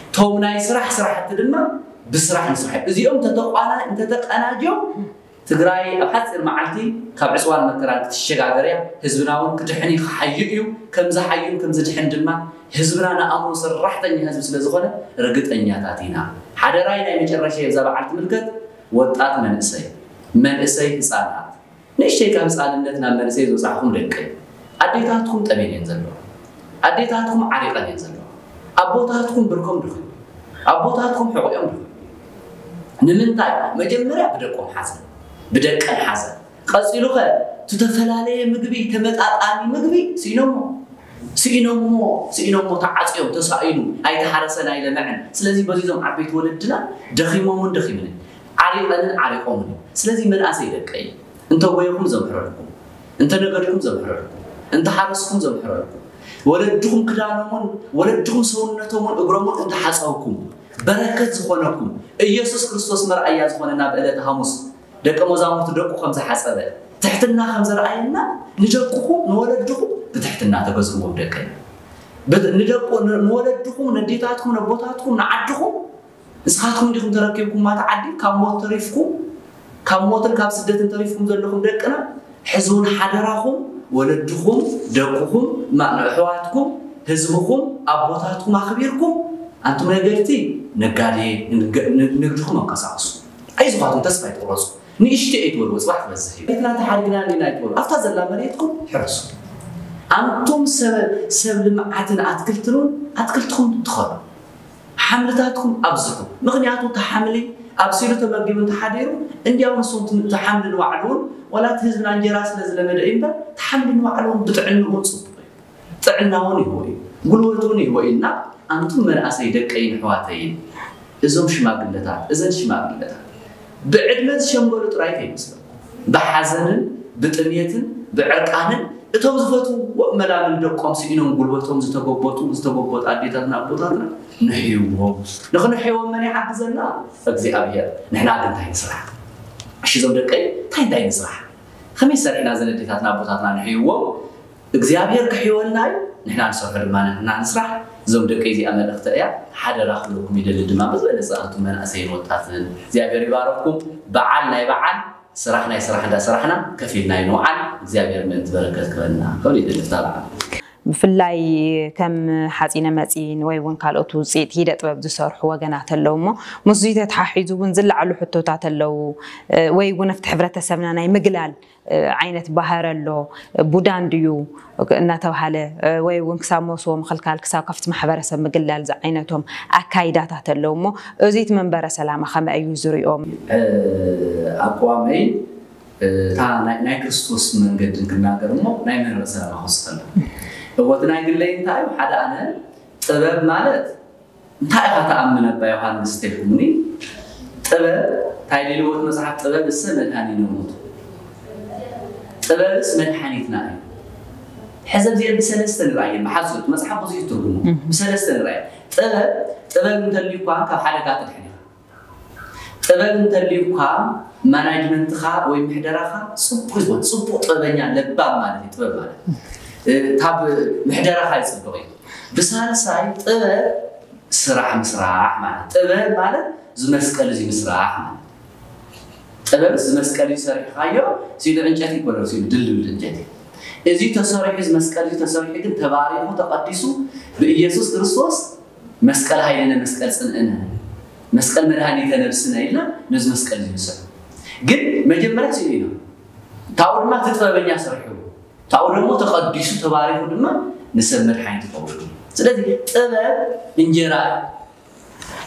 እቶም ናይ ስራሕ ስራሕቲ ድማ ብስራሕ ንስራሕ እዮም። እዚኦም እንተተቋና እንተተቀናጅዮም ትግራይ ኣብ ሓፂር መዓልቲ ካብ ዕፅዋን መከራን ክትሸጋገር እያ። ህዝብና እውን ክድሕን እዩ፣ ክሓዩ እዩ። ከም ዝሓዩን ከም ዝድሕን ድማ ህዝብና ንኣእምሮ ሰራሕተኛ ህዝቢ ስለ ዝኾነ ርግጠኛታት ኢና። ሓደራይ ናይ መጨረሻ እዛ በዓል ትምልከት ወጣት መንእሰይ፣ መንእሰይ ህፃናት፣ ንእሽተይ ካብ ህፃንነት ናብ መንእሰይ ዝበፃሕኹም ደቂ ኣዴታትኩም ጠሜን እየን ዘለዋ። ኣዴታትኩም ዓሪቐን እየን ዘለዋ። ኣቦታትኩም ብርኮም ድኹም፣ ኣቦታትኩም ሕቑኦም ድኹም። ንምንታይ? መጀመርያ ብደቆም ሓዘን፣ ብደቀን ሓዘን። ቀፂሉኸ እቲ ዝተፈላለየ ምግቢ፣ ተመጣጣኒ ምግቢ ስኢኖሞ ስኢኖሞ ስኢኖሞ ተዓፅዮም፣ ተሳኢኑ፣ ኣይተሓረሰን ኣይለምዐን። ስለዚ በዚ እዞም ዓበይቲ ወለድና ደኺሞምን ደኺምንን ዓሪቐንን ዓሪቖምን እዮም። ስለዚ መናእሰይ ደቀይ እንተጎየኹም ዘምሕረልኩም፣ እንተነገድኩም ዘምሕረልኩም፣ እንተሓረስኩም ዘምሕረልኩም፣ ወለድኹም ክዳኖምን ወለድኹም ሰውነቶምን እግሮምን እንተሓፀብኩም በረከት ዝኾነኩም ኢየሱስ ክርስቶስ መርኣያ ዝኾነና ብዕለተ ሓሙስ ደቀ መዛሙርቱ ደቁ ከም ዝሓጸበ ትሕትና ከም ዘርኣየና ንደቅኹም ንወለድኹም ብትሕትና ተገዝእዎም ደቀይ። ብት- ንደቁ ን- ንወለድኹም ነዴታትኩም ነቦታትኩም ንዓድኹም ንስኻትኩም እንዲኹም ተረኪብኩም ማታ ዓዲ ካብ ሞት ተሪፍኩም ካብ ሞትን ካብ ስደትን ተሪፍኩም ዘለኹም ደቅና ሕዚ እውን ሓደራኹም ወለድኹም ደቅኹም ማ- ንኣሕዋትኩም ህዝብኹም ኣቦታትኩም ኣኽቢርኩም ኣንቱም ነገድቲ ነጋዴ ንግ- ን- ንግድኹም ኣንቀሳቕሱ። ኣይዝኻትኩም ተስፋ ኣይትቑረፁ። ንእሽተይ ኣይትበልዎ፣ ፅባሕ ክበዝሕ እዩ። ቤትና ተሓዲግና እንዲና ኣይትበሉ። ኣብታ ዘላ መሬትኩም ሕረሱ። ኣንቱም ሰብ ሰብ ልምዓትን ኣትክልትን እውን ኣትክልትኹም ትኸሉ። ሓምልታትኩም ኣብዝሑ። ምኽንያቱ እቲ ሓምሊ ኣብሲሉ ተመጊቡ እንተሓዲሩ እንዲያው ንሱ እቲ ሓምሊ ንባዕሉ እውን ዋላ እቲ ህዝብና እንጀራ ስለ ዝለመደ እዩ እምበር እቲ ሓምሊ ንባዕሉ እውን ብጥዕንኡ እውን ፅቡቕ እዩ። ጥዕና እውን ይህቦ እዩ፣ ጉልበት እውን ይህቦ እዩ እና ኣንቱም መናእሰይ ደቀይን ኣሕዋተይን እዞም ሽማግለታት እዘን ሽማግለታት ብዕድመ ዝሸምገሉ ጥራይ ከይመስለኩም ብሓዘንን ብጥሜትን ብዕርቃንን እቶም ዝፈትውዎ መላምል ደቆም ስኢኖም ጉልበቶም ዝተጎበጡ ዝተጎበጡ ኣዴታትና ኣቦታትና ንሕይዎም። ንኽንሕይዎም መን ይሓግዘና? እግዚኣብሔር። ንሕና ግን እንታይ ንስራሕ? እሺ እዞም ደቀይ እንታይ እንታይ ንስራሕ? ከመይ ሰሪሕና እዘን ኣዴታትና ኣቦታትና ንሕይዎም? እግዚኣብሔር ክሕይወልና እዩ። ንሕና ንሰርሖ ድማ ንሕና ንስራሕ። እዞም ደቀይ እዚኣ መልእኽቲ እያ። ሓደራ ክብለኩም ይደሊ ድማ ብዝበለፀ ኣንቱም መናእሰይን ወጣትን እግዚኣብሔር ይባረኽኩም። በዓል ናይ በዓል ስራሕ ናይ ስራሕ እንዳሰራሕና ከፊልና ይንውዓል እግዚኣብሔር ምእንቲ በረከት ክበልና ክብል ይደልፍታ በዓል። ብፍላይ ከም ሓፂነ መፂን ወይ እውን ካልኦት ውፅኢት ኢደ ጥበብ ዝሰርሑ ወገናት ኣለዉ እሞ ምስዚ ተተሓሒዙ እውን ዝለዓሉ ሕቶታት ኣለዉ ወይ እውን ኣብቲ ሕብረተሰብና ናይ ምግላል ዓይነት ባህረ ኣሎ ቡዳ እንድዩ እናተባሃለ ወይ እውን ክሳብ መውስቦ ምኽልካል ክሳብ ካብቲ ማሕበረሰብ ምግላል ዝዓይነቶም ኣካይዳታት ኣለዉ እሞ እዚ እቲ መንበረ ሰላማ ከመይ እዩ ዝሪኦም? ኣቋመይ እታ ናይ ክርስቶስ መንገዲ ክናገር እሞ ናይ መንበረ ሰላማ ክወስድ ከሎ እወ እቲ ናይ ግለይ እንታይ እዩ ሓደ ኣነ ጥበብ ማለት እንታይ ኢኻ ትኣምን ኣባ ዮሃንስ ተይኩምኒ? ጥበብ እንታይ ኢልዎ እቲ መፅሓፍ ጥበብ እሰ መድሃኒነ ውእቱ። ጥበብስ መድሓኒትና እዩ። ሕዚ ኣብዚአን ብሰለስተ ንርኣየን። ብሓፂሩ እቲ መፅሓፍ ብዙሕ ትርጉሙ። ብሰለስተ ንርኣየን። ጥበብ ጥበብ እንተልዩ እኳ ካብ ሓደጋ ትድሕን ኢኻ። ጥበብ እንተልዩ እኳ ማናጅመንትኻ ወይ ምሕደራኻ ፅቡቅ ይኾን። ፅቡቅ ጥበበኛ ለባም ማለት እዩ። ጥበብ ማለት ካብ ምሕደራኻ ይፅብቅ እዩ። ብሳልሳይ ጥበብ ስራሕ ምስራሕ ማለት ጥበብ ማለት ዝመስቀል እዚ ምስራሕ ማለት ጥበብ ዝመስቀል እዩ ሰሪሕኻዮ ሲሉ ዕንጨት ይኮነር ሲሉ ድልድል ዕንጨት እዩ። እዚ ተሰሪሑ እዚ መስቀል እዚ ተሰሪሑ ግን ተባሪኹ ተቐዲሱ ብኢየሱስ ክርስቶስ መስቀል ኃይልነ መስቀል ጽንዕነ መስቀል መድኃኒተ ነብስነ ኢልና ነዚ መስቀል እዚ ንስዕብ። ግን መጀመርያ ስኢሉ ኢና። ታኡ ድማ እቲ ጥበበኛ ሰሪሑ ታኡ ደግሞ ተቐዲሱ ተባሪኹ ድማ ንሰብ መድሓኒት ይኸውን። ስለዚ ጥበብ እንጀራ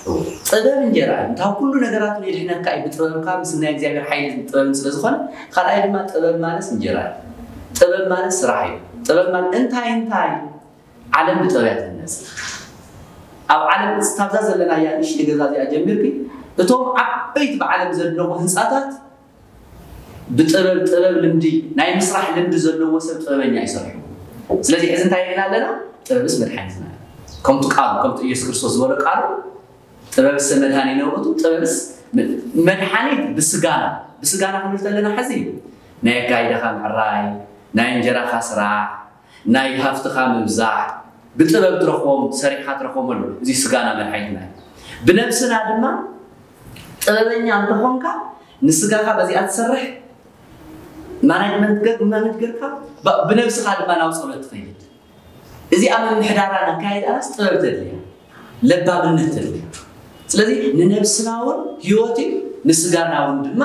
እዩ። ጥበብ እንጀራ እዩ። ካብ ኩሉ ነገራት የድሕነካ እዩ። ብጥበብካ ምስ ናይ እግዚኣብሔር ሓይሊ ጥበብን ስለ ዝኾነ፣ ካልኣይ ድማ ጥበብ ማለት እንጀራ እዩ። ጥበብ ማለት ስራሕ እዩ። ጥበብ ማለት እንታይ እንታይ ዓለም ብጥበብ እያ ትህነጽ። ኣብ ዓለም እስታብዛ ዘለና እያ ንእሽተይ ገዛ እዚኣ ጀሚርኪ እቶም ዓበይቲ ብዓለም ዘድነቑ ህንጻታት ብጥበብ ጥበብ ልምዲ ናይ ምስራሕ ልምዲ ዘለዎ ሰብ ጥበበኛ ይሰርሑ። ስለዚ ሕዚ እንታይ ርኢና ኣለና? ጥበብስ መድሓኒትና ከምቲ ቃሉ ከምቲ ኢየሱስ ክርስቶስ ዝበሎ ቃሉ ጥበብስ መድኃኒነ ውእቱ ጥበብስ መድሓኒት ብስጋና ብስጋና ክንብል ተለና ሕዚ ናይ ኣካይዳኻ ምዕራይ ናይ እንጀራኻ ስራሕ ናይ ሃፍትኻ ምብዛሕ ብጥበብ ትረኽቦም ሰሪሕኻ ትረኽቦም ኣሎ። እዚ ስጋና መድሓኒትና እዩ። ብነብስና ድማ ጥበበኛ እንተኾንካ ንስጋኻ በዚኣ ትሰርሕ ማናጅመንት ገር ማናጅ ገርካ ብነብስኻ ድማ ናብ ጸሎት ትኸይድ። እዚኣ ምምሕዳራ ናካየዳናስ ጥበብ ተድልያ ለባምነት ተድልያ። ስለዚ ንነብስና እውን ህይወት እዩ ንስጋና እውን ድማ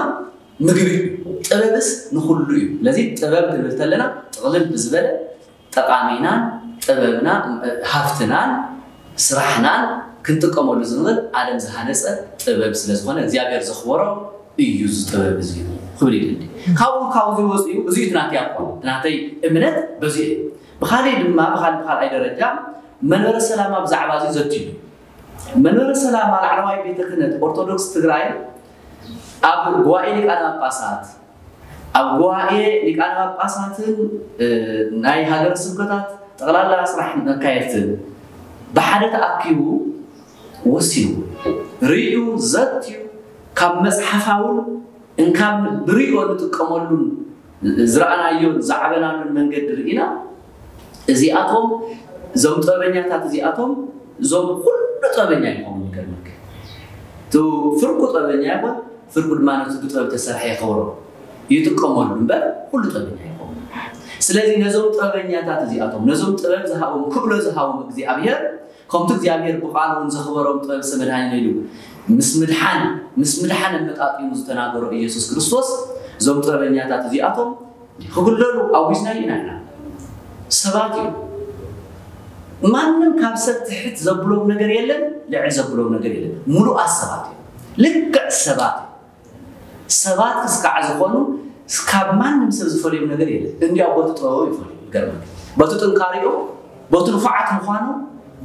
ምግቢ እዩ። ጥበብስ ንኹሉ እዩ። ስለዚ ጥበብ ክንብል ተለና ጥቕልል ብዝበለ ጠቓሚናን ጥበብና ሃፍትናን ስራሕናን ክንጥቀመሉ ዝንኽእል ዓለም ዝሃነፀ ጥበብ ስለዝኾነ እግዚኣብሔር ዘኽበሮ እዩ። እዚ ጥበብ እዚ ክብል ይደሊ። ካብኡ ካብዚ ወፂኡ እዚ እዩ ናተይ ኣቋም ናተይ እምነት በዚ እዩ። ብካሊእ ድማ ብካል ብካልኣይ ደረጃ መንበረ ሰላማ ብዛዕባ እዚ ዘትዩ መንበረ ሰላማ ላዕለዋይ ቤተ ክህነት ኦርቶዶክስ ትግራይ ኣብ ጉባኤ ሊቃነ ጳጳሳት ኣብ ጉባኤ ሊቃነ ጳጳሳትን ናይ ሃገረ ስብከታት ጠቕላላ ስራሕ መካየድትን ብሓደ ተኣኪቡ ወሲኑ ርእዩ ዘትዩ ካብ መፅሓፋውን እንካብ ብሪኦ ንጥቀመሉን ዝረኣናዮን ዝዓበናሉን መንገዲ ርኢና እዚኣቶም እዞም ጥበበኛታት እዚኣቶም እዞም ኩሉ ጥበበኛ ይኸውን ይገርመካ። እቲ ፍርቁ ጥበበኛ ይኾን ፍርቁ ድማ ነቲ ብጥበብ ተሰርሐ የኸብሮ ይጥቀመሉ እምበር ኩሉ ጥበበኛ ይኸውን። ስለዚ ነዞም ጥበበኛታት እዚኣቶም ነዞም ጥበብ ዝሃቦም ክእሎ ዝሃቦም እግዚኣብሔር ከምቲ እግዚኣብሔር ብቃሉ እውን ዘኽበሮም ጥበብ ሰመድሃኒ ኢሉ ምስ ምድሓን ምስ ምድሓን ኣመጣጢኑ ዝተናገሮ ኢየሱስ ክርስቶስ እዞም ጥበበኛታት እዚኣቶም ክግለሉ ኣዊጅና ኢና ኢና ሰባት እዮም። ማንም ካብ ሰብ ትሕት ዘብሎም ነገር የለን፣ ልዕል ዘብሎም ነገር የለን። ሙሉኣት ሰባት እዮም። ልክዕ ሰባት እዮም። ሰባት ክስካዕ ዝኾኑ ካብ ማንም ሰብ ዝፈልዮም ነገር የለን። እንዲያው በቲ ጥበቦም ይፈልዩ። ይገርመካ። በቲ ጥንካሬኦም፣ በቲ ንፉዓት ምዃኖም፣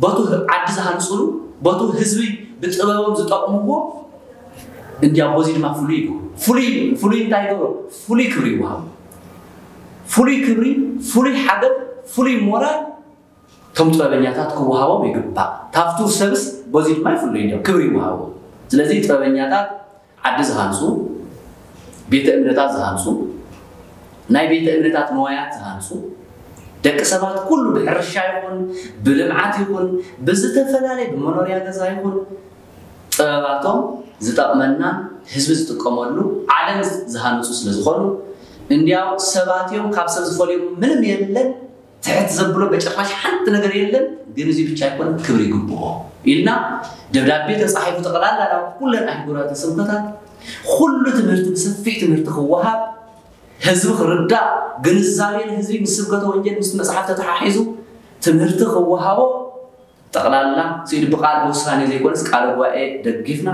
በቲ ዓዲ ዝሃንፅሉ፣ በቲ ህዝቢ ብጥበቦም ዝጠቕምዎ እንዲያው በዚ ድማ ፍሉይ ይገብሩ። ፍሉይ ፍሉይ እንታይ ይገብሩ? ፍሉይ ክብሪ ይወሃቡ። ፍሉይ ክብሪ፣ ፍሉይ ሓገዝ፣ ፍሉይ ሞራል እቶም ጥበበኛታት ክወሃቦም ይግባእ። ታፍቱ ሰብስ በዚ ድማ ይፍለዩ እዮም፣ ክብሪ ይወሃቦም። ስለዚ ጥበበኛታት ዓዲ ዝሃንፁ፣ ቤተ እምነታት ዝሃንፁ፣ ናይ ቤተ እምነታት ንዋያት ዝሃንፁ፣ ደቂ ሰባት ኩሉ ብሕርሻ ይኹን ብልምዓት ይኹን ብዝተፈላለየ ብመኖርያ ገዛ ይኹን ጥበባቶም ዝጠቕመና ህዝቢ ዝጥቀመሉ ዓለም ዝሃንፁ ስለ ዝኾኑ እንዲያው ሰባት እዮም ካብ ሰብ ዝፈልዮም ምንም የለን። ትሕት ዘብሎ በጭራሽ ሓንቲ ነገር የለን። ግን እዚ ብቻ ኣይኮነ ክብሪ ይግብኦ ኢልና ደብዳቤ ተፃሒፉ ጠቕላላ ናብ ኩለን ኣህጉራተ ስብከታት ኩሉ ትምህርቲ ብሰፊሕ ትምህርቲ ክወሃብ ህዝቢ ክርዳእ ግንዛቤ ንህዝቢ ምስ ስብከተ ወንጌል ምስ መፅሓፍ ተተሓሒዙ ትምህርቲ ክወሃቦ ጠቕላላ ስኢሉ ብቃል ብውሳኔ ዘይኮነስ ቃለ ጉባኤ ደጊፍና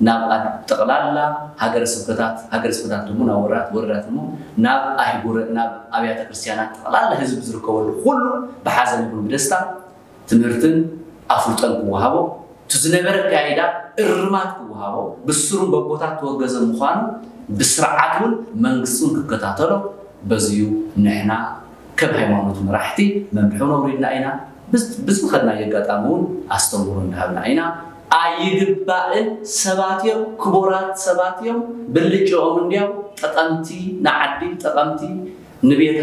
ናብ ጠቕላላ ሃገረ ስብከታት ሃገረ ስብከታት ድሞ ናብ ወረዳት ወረዳት ድሞ ናብ ኣህጉረ ናብ ኣብያተ ክርስቲያናት ጠቕላላ ህዝቢ ዝርከበሉ ኩሉ ብሓዘን ይኹን ብደስታ ትምህርትን ኣፍልጦን ክወሃቦ እቲ ዝነበረ ኣካይዳ እርማት ክወሃቦ ብስሩን በቦታት ተወገዘ ምዃኑ ብስርዓት እውን መንግስቲ እውን ክከታተሎ በዚዩ ንሕና ከም ሃይማኖት መራሕቲ መምርሒ ነውሪድና ኢና። ብዝ- ብዝኸድናዮ ኣጋጣሚ እውን ኣስተምህሮ እንዳሃብና ኢና። ኣይግባእን። ሰባት እዮም፣ ክቡራት ሰባት እዮም። ብልጭኦም እንዲያው ጠቐምቲ ንዓዲ፣ ጠቐምቲ ንቤተ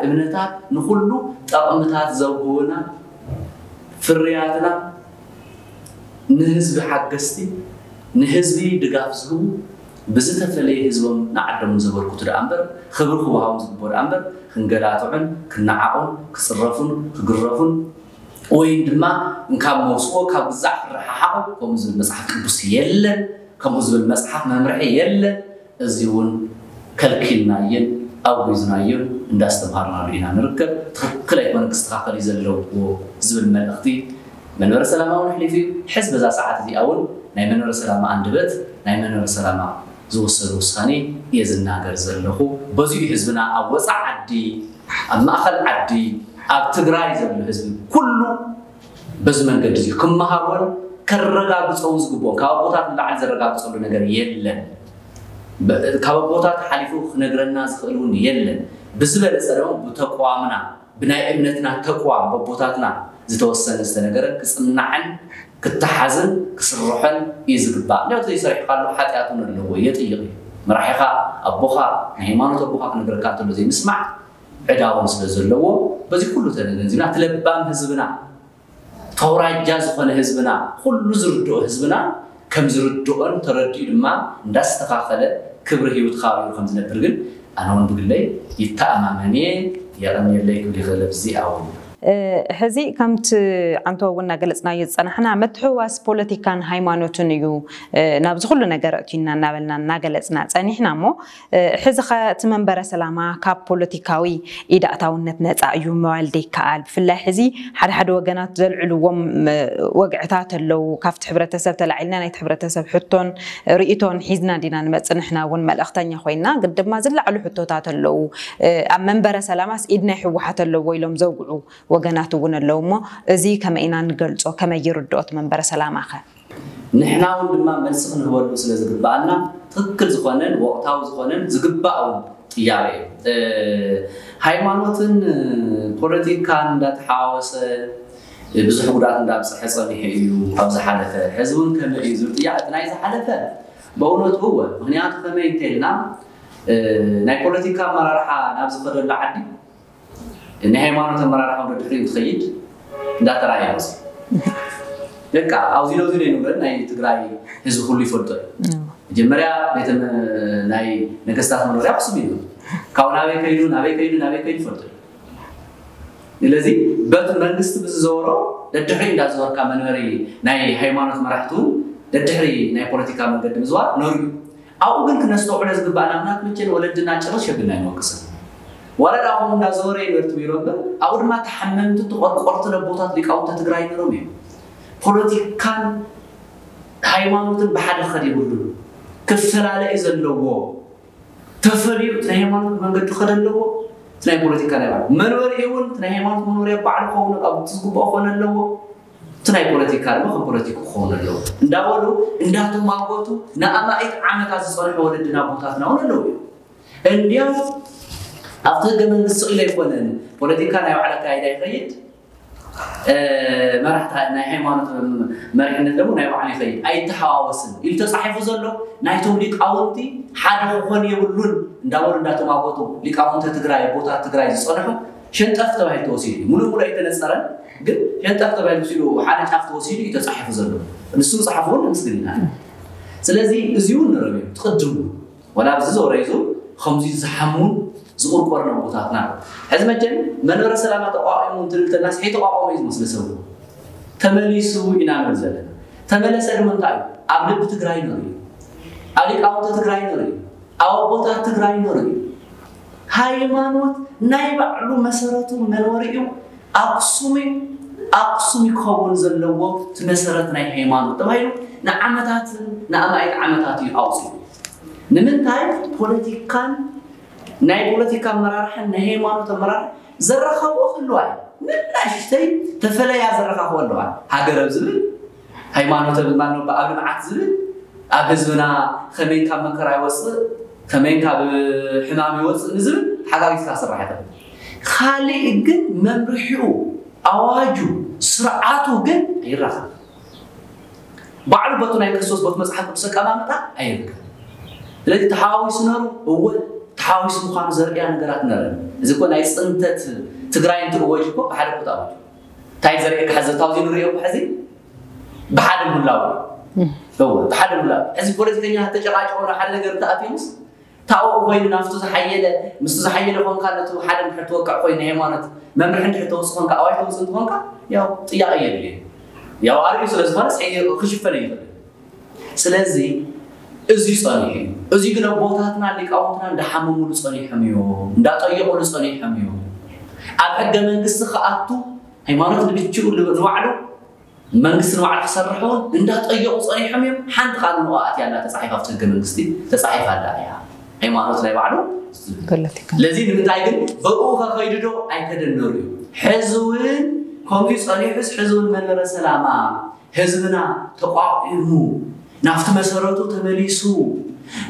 እምነታት፣ ንኹሉ ጠቕምታት ዘውህቡና ፍርያትና፣ ንህዝቢ ሓገዝቲ፣ ንህዝቢ ድጋፍ ዝህቡ፣ ብዝተፈለየ ህዝቦም ንዓዶም ዘበርክቱ ደኣ እምበር፣ ክብሪ ክወሃቦም ዝግብኦ ደኣ እምበር፣ ክንገላትዑን ክነዓቑን ክፅረፉን ክግረፉን ወይ ድማ እንካብ መውስቦ ካብ ግዛዕ ክረሓሓቑ ከምኡ ዝብል መፅሓፍ ቅዱስ የለን። ከምኡ ዝብል መፅሓፍ መምርሒ የለን። እዚ እውን ከልኪልናዮን ኣውጊዝናዮን እንዳስተምሃርናሉ ኢና ንርከብ። ትኽክል ኣይኮነን፣ ክስተኻኸል እዩ ዘለዎ ዝብል መልእኽቲ መንበረ ሰላማ እውን ኣሕሊፉ እዩ። ሕዚ በዛ ሰዓት እዚኣ እውን ናይ መንበረ ሰላማ ኣንደበት፣ ናይ መንበረ ሰላማ ዝወሰዶ ውሳኔ እየ ዝናገር ዘለኹ። በዚኡ ህዝብና ኣብ ወፃእ ዓዲ፣ ኣብ ማእኸል ዓዲ፣ ኣብ ትግራይ ዘሎ ህዝቢ ኩሉ በዚ መንገዲ እዚ ክመሃሮን ከረጋግፆ እውን ዝግብኦ፣ ካብ ኣቦታት ንላዕሊ ዘረጋግፀሉ ነገር የለን። ብ- ካብ ኣቦታት ሓሊፉ ክነግረና ዝኽእል እውን የለን። ብዝበለፀ ድማ ብተቋምና፣ ብናይ እምነትና ተቋም፣ በቦታትና ዝተወሰነ ዝተነገረ ክፅናዕን ክተሓዝን ክስርሖን እዩ ዝግባእ። እንዲያው ዘይሰሪሕካሉ ሓጢኣት እውን ኣለዎ፣ የጥይቕ እዩ። መራሒኻ፣ ኣቦኻ፣ ናይ ሃይማኖት ኣቦኻ ክነግረካ እንተሎ ዘይምስማዕ ዕዳ እውን ስለ ዘለዎ፣ በዚ ኩሉ ተገንዚብና፣ እቲ ለባም ህዝብና፣ ተውራጃ ዝኾነ ህዝብና፣ ኩሉ ዝርድኦ ህዝብና ከም ዝርድኦን ተረዲኡ ድማ እንዳስተኻኸለ ክብሪ ህይወት ተኻቢሩ ከም ዝነብር ግን ኣነ እውን ብግለይ ይተኣማመን እየ። የቐንየለይ ክብል ይኽእል ኣብዚ እውን። እ፣ ሕዚ ከምቲ ዓንቶ እውን እናገለጽናዮ ዝጸናሕና፣ ምትሕውዋስ ፖለቲካን ሃይማኖትን እዩ፣ እ፣ ናብዚ ኩሉ ነገር ኣእትዩና እናበልና እናገለጽና ጸኒሕና እሞ፣ እ፣ ሕዚ ኸ እቲ መንበረ ሰላማ ካብ ፖለቲካዊ ኢድ ኣእታውነት ነጻ እዩ ምባል ዘይከኣል። ብፍላይ ሕዚ ሓደ ሓደ ወገናት ዘልዕልዎም፣ እ፣ ወግዕታት ኣለዉ። ካብቲ ሕብረተሰብ ተላዒልና ናይቲ ሕብረተሰብ ሕቶን ርእይቶን ሒዝና ዲና ንመጽእ? ንሕና እውን መልእኽተኛ ኮይና፣ ግን ድማ ዝለዓሉ ሕቶታት ኣለዉ። እ፣ ኣብ መንበረ ሰላማስ ኢድ ናይ ህወሓት ኣለዎ ኢሎም ዘውግዑ ወገናት እውን ኣለዉ እሞ፣ እዚ ከመይ ኢና ንገልጾ? ከመይ ይርድኦ እቲ መንበረ ሰላማኸ? ንሕና እውን ድማ መልሲ ክንህበሉ ስለ ዝግብኣና፣ ትኽክል ዝኾነን ወቕታዊ ዝኾነን ዝግባእ እውን ጥያቄ እዩ። እ፣ ሃይማኖትን ፖለቲካን እንዳተሓዋወሰ ብዙሕ ጉድኣት እንዳብፀሐ ፀኒሑ እዩ ኣብ ዝሓለፈ። ሕዚ እውን ከመይ እዩ ዝብል ጥያቄ፣ እቲ ናይ ዝሓለፈ ብእውነቱ እወ። ምኽንያቱ ከመይ እንተኢልና፣ እ፣ ናይ ፖለቲካ ኣመራርሓ ናብ ዝኸደሉ ዓዲ ናይ ሃይማኖት ኣመራርሓ ወደ ድሕሪኡ ትኸይድ እንዳተራእየ መፅእ። በቃ ኣብዚ ነዚ ናይ ንብረት ናይ ትግራይ ህዝቢ ኩሉ ይፈልጦ እዩ። መጀመርያ ቤተ መ- ናይ ነገስታት መኖርያ ኣክሱም እዩ። ካብኡ ናበይ ከይዱ ናበይ ከይዱ ናበይ ከይዱ ይፈልጦ እዩ። ስለዚ በቲ መንግስቲ ብዝዘወሮ ደድሕሪ እንዳዘወርካ መንበሪ ናይ ሃይማኖት መራሕቱ ደድሕሪ ናይ ፖለቲካ መንገዲ ምዝዋር ነሩ እዩ። ኣብኡ ግን ክነስተውዕሎ ዝግባእና፣ ምክንያቱ መቸን ወለድና ጭርሽ የብልና ኣይንወቅስን። ዋላ ደኣ ከምኡ እንዳዘወረ ይበርቱ ይሮ እምበር፣ ኣብኡ ድማ ተሓመምቲ ተቆርቆርቲ ለቦታት ሊቃውንተ ትግራይ ነሮም እዮም። ፖለቲካን ሃይማኖትን ብሓደ ክኸድ የብሉን። ክፈላለ እዩ ዘለዎ። ተፈልዩ እቲ ናይ ሃይማኖት መንገዲ ክኸደ ኣለዎ። እቲ ናይ ፖለቲካ ናይ ባዕሉ መንበሪ እውን እቲ ናይ ሃይማኖት መኖርያ ባዕሉ ክኸውን ኣብ ዝግብኦ ክኾነ ኣለዎ። እቲ ናይ ፖለቲካ ድማ ከም ፖለቲካ ክኸውን ኣለዎ እንዳበሉ እንዳተማጎቱ ንኣማኢት ዓመታት ዝፀንሑ ወለድና ኣቦታትና እውን ኣለዉ እዮም። እንዲያው ኣብቲ ህገ መንግስቲ ስቕ ኢለ ኣይኮነን ፖለቲካ ናይ ባዕሉ ኣካይዳ ይኸይድ፣ እ፣ መራሕቲ ናይ ሃይማኖት መሪሕነት ደግሞ ናይ ባዕሉ ይኸይድ፣ ኣይተሓዋወስን ኢሉ ተፃሒፉ ዘሎ ናይቶም ሊቃውንቲ ሓደ ክኾን የብሉን እንዳበሉ እንዳተማጎቱ ሊቃውንተ ትግራይ ኣቦታት ትግራይ ዝፀንሑ ሸንጠፍ ተባሂሉ ተወሲዱ እዩ። ሙሉእ ሙሉእ ኣይተነፀረን፣ ግን ሸንጠፍ ተባሂሉ ወሲዱ ሓደ ጫፍ ተወሲዱ እዩ ተፃሒፉ ዘሎ። ንሱ ምፅሓፉ እውን ነመስግን ኢና። ስለዚ እዚ እውን ንረብ እዩ ትቕድሙ ወላ ኣብዚ ዞረ ይዙ ከምዚ ዝሓሙን ዝቑርቆርን ኣቦታትና። ሕዚ መቸም መንበረ ሰላማ ተቋቒሙ እንትንብል ተናስ ተቋቋመ እዩ ዝመስለ ሰብ ተመሊሱ ኢና ንብል ዘለና። ተመለሰ ድማ እንታይ እዩ? ኣብ ልቢ ትግራይ ነሩ እዩ። ኣብ ሊቃውንቲ ትግራይ ነሩ እዩ። ኣብ ኣቦታት ትግራይ ነሩ እዩ። ሃይማኖት ናይ ባዕሉ መሰረቱ መንበሪኡ ኣክሱም እዩ። ኣክሱም ይኸውን ዘለዎ እቲ መሰረት ናይ ሃይማኖት ተባሂሉ ንዓመታት ንኣማኢት ዓመታት እዩ ኣውፂኡ። ንምንታይ ፖለቲካን ናይ ፖለቲካ ኣመራርሓን ናይ ሃይማኖት ኣመራርሓ ዘረኻብኦ ክህልዋ እዩ። ንናሽተይ ተፈለያ ዘረኻኽቦ ኣለዋ። ሃገር ኣብ ዝብል ሃይማኖት ኣብ ማኖ ኣብ ልምዓት ዝብል ኣብ ህዝብና ከመይ ካብ መከራ ይወፅእ ከመይ ካብ ሕማም ይወፅእ ንዝብል ተሓጋጊዝካ ክስራሕ ይኽእል። ካልእ ግን መምርሒኡ፣ ኣዋጁ፣ ስርዓቱ ግን ኣይራኸብ። ባዕሉ በቱ ናይ ክርስቶስ በቱ መጽሓፍ ቅዱስ ኣቀማምጣ ኣይርከብ። ስለዚ ተሓዋዊሱ ነሩ እወ ተሓዋዊሱ ምዃኑ ዘርእያ ነገራት ነረ። እዚ እኮ ናይ ጽንተት ትግራይ እንትእወጅ እኮ ብሓደ እኮ ተኣወጅ። እንታይ ዘርእየካ ሕዚ ታውዚ ንርእዮ እኮ ሕዚ ብሓደ ምህላው። እወ ብሓደ ምህላው። ሕዚ ፖለቲከኛ ተጨቃጭቆ ሓደ ነገር ተኣትዩስ ታወኡ ኮይኑ ናፍቱ ዝሓየለ ምስቱ ዝሓየለ ኮንካ ነቱ ሓደ ምሕር ትወቅዕ ኮይኑ ሃይማኖት መምርሒ እንድሕር ተውፅእ ኮንካ ኣዋጅ ተውፅእ እንትኾንካ ያው ጥያቄ የድልየ። ያው ኣርእዩ ስለ ዝኾነ ክሽፈን ይኽእል። ስለዚ እዚ ጸኒሑ እዩ። እዚ ግን ኣቦታትና ሊቃውንትና እንዳሓመሙሉ ጸኒሖም እዮም፣ እንዳጠየቑሉ ጸኒሖም እዮም። ኣብ ሕገ መንግስቲ ክኣቱ ሃይማኖት ንብችኡ ዝባዕሉ መንግስቲ ንባዕሉ ክሰርሕ እውን እንዳጠየቑ ጸኒሖም እዮም። ሓንቲ ቃል ንኡ ኣትያ ኣላ ተጻሒፋ ኣብቲ ህገ መንግስቲ ተጻሒፋ ኣላ እያ። ሃይማኖት ናይ ባዕሉ ፖለቲካ ለዚ ንምንታይ ግን ብኡ ከኸይዱ ዶ ኣይከደነሩ እዩ። ሕዚ እውን ከምዚ ጸኒሑስ ሕዚ እውን መንበረ ሰላማ ህዝብና ተቋቒሙ ናብቲ መሰረቱ ተመሊሱ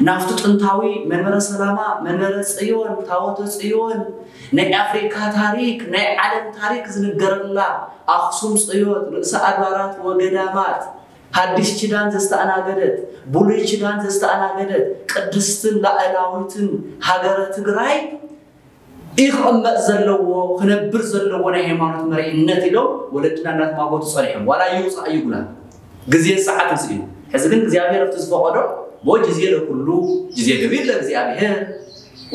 ናብቲ ጥንታዊ መንበረ ሰላማ መንበረ ጽዮን ታቦተ ጽዮን ናይ ኣፍሪካ ታሪክ ናይ ዓለም ታሪክ ዝንገረላ ኣክሱም ጽዮን ርእሰ ኣድባራት ወገዳማት ሓድሽ ኪዳን ዘስተኣናገደት ብሉይ ኪዳን ዘስተኣናገደት ቅድስትን ላእላዊትን ሃገረ ትግራይ ይኽቐመጥ ዘለዎ ክነብር ዘለዎ ናይ ሃይማኖት መሪሕነት ኢሎም ወለድና እናተማጎቱ ጸኒሖም። ዋላ ይውፃእ ይጉላ ግዜ ሰዓት ስኢኑ። ሕዚ ግን እግዚኣብሔር ኣብቲ ዝፈቐዶ ሞ ጊዜ ለኩሉ ጊዜ ገቢር ለእግዚኣብሔር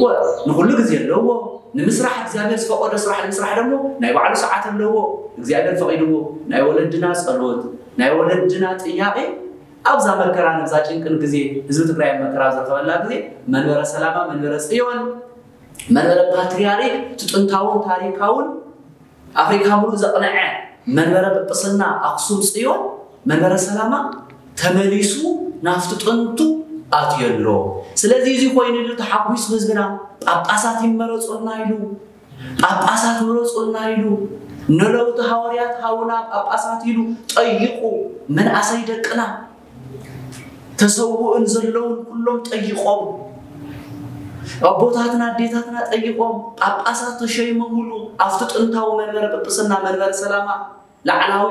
ወ- ንኹሉ ግዜ ኣለዎ። ንምስራሕ እግዚኣብሔር ዝፈቐዶ ስራሕ ንምስራሕ ደግሞ ናይ ባዕሉ ሰዓት ኣለዎ። እግዚኣብሔር ፈቒድዎ ናይ ወለድና ጸሎት ናይ ወለድና ጥያቄ ኣብዛ መከራ ነብዛ ጭንቅን ግዜ ህዝቢ ትግራይ ኣብ መከራ ኣብ ዝረኸበላ ግዜ መንበረ ሰላማ መንበረ ጽዮን መንበረ ፓትርያርክ እቲ ጥንታውን ታሪካውን ኣፍሪካ ሙሉእ ዘቕንዐ መንበረ ጵጵስና ኣክሱም ፅዮን መንበረ ሰላማ ተመሊሱ ናፍቲ ጥንቱ ኣትዮ ኣሎ። ስለዚ እዚ ኮይኑሉ ተሓጒሱ ህዝብና ጳጳሳት ይመረፁልና ኢሉ ጳጳሳት ምረፁልና ኢሉ ንለውጢ ሃዋርያት ሃቡና ጳጳሳት ኢሉ ጠይቑ መናእሰይ ደቅና ተሰውእን ዘለውን ኩሎም ጠይቖም ኣቦታትና ኣዴታትና ጠይቖም ጳጳሳት ተሸይሞምሉ ኣብቲ ጥንታዊ መንበረ ጵጵስና መንበረ ሰላማ ላዕላዊ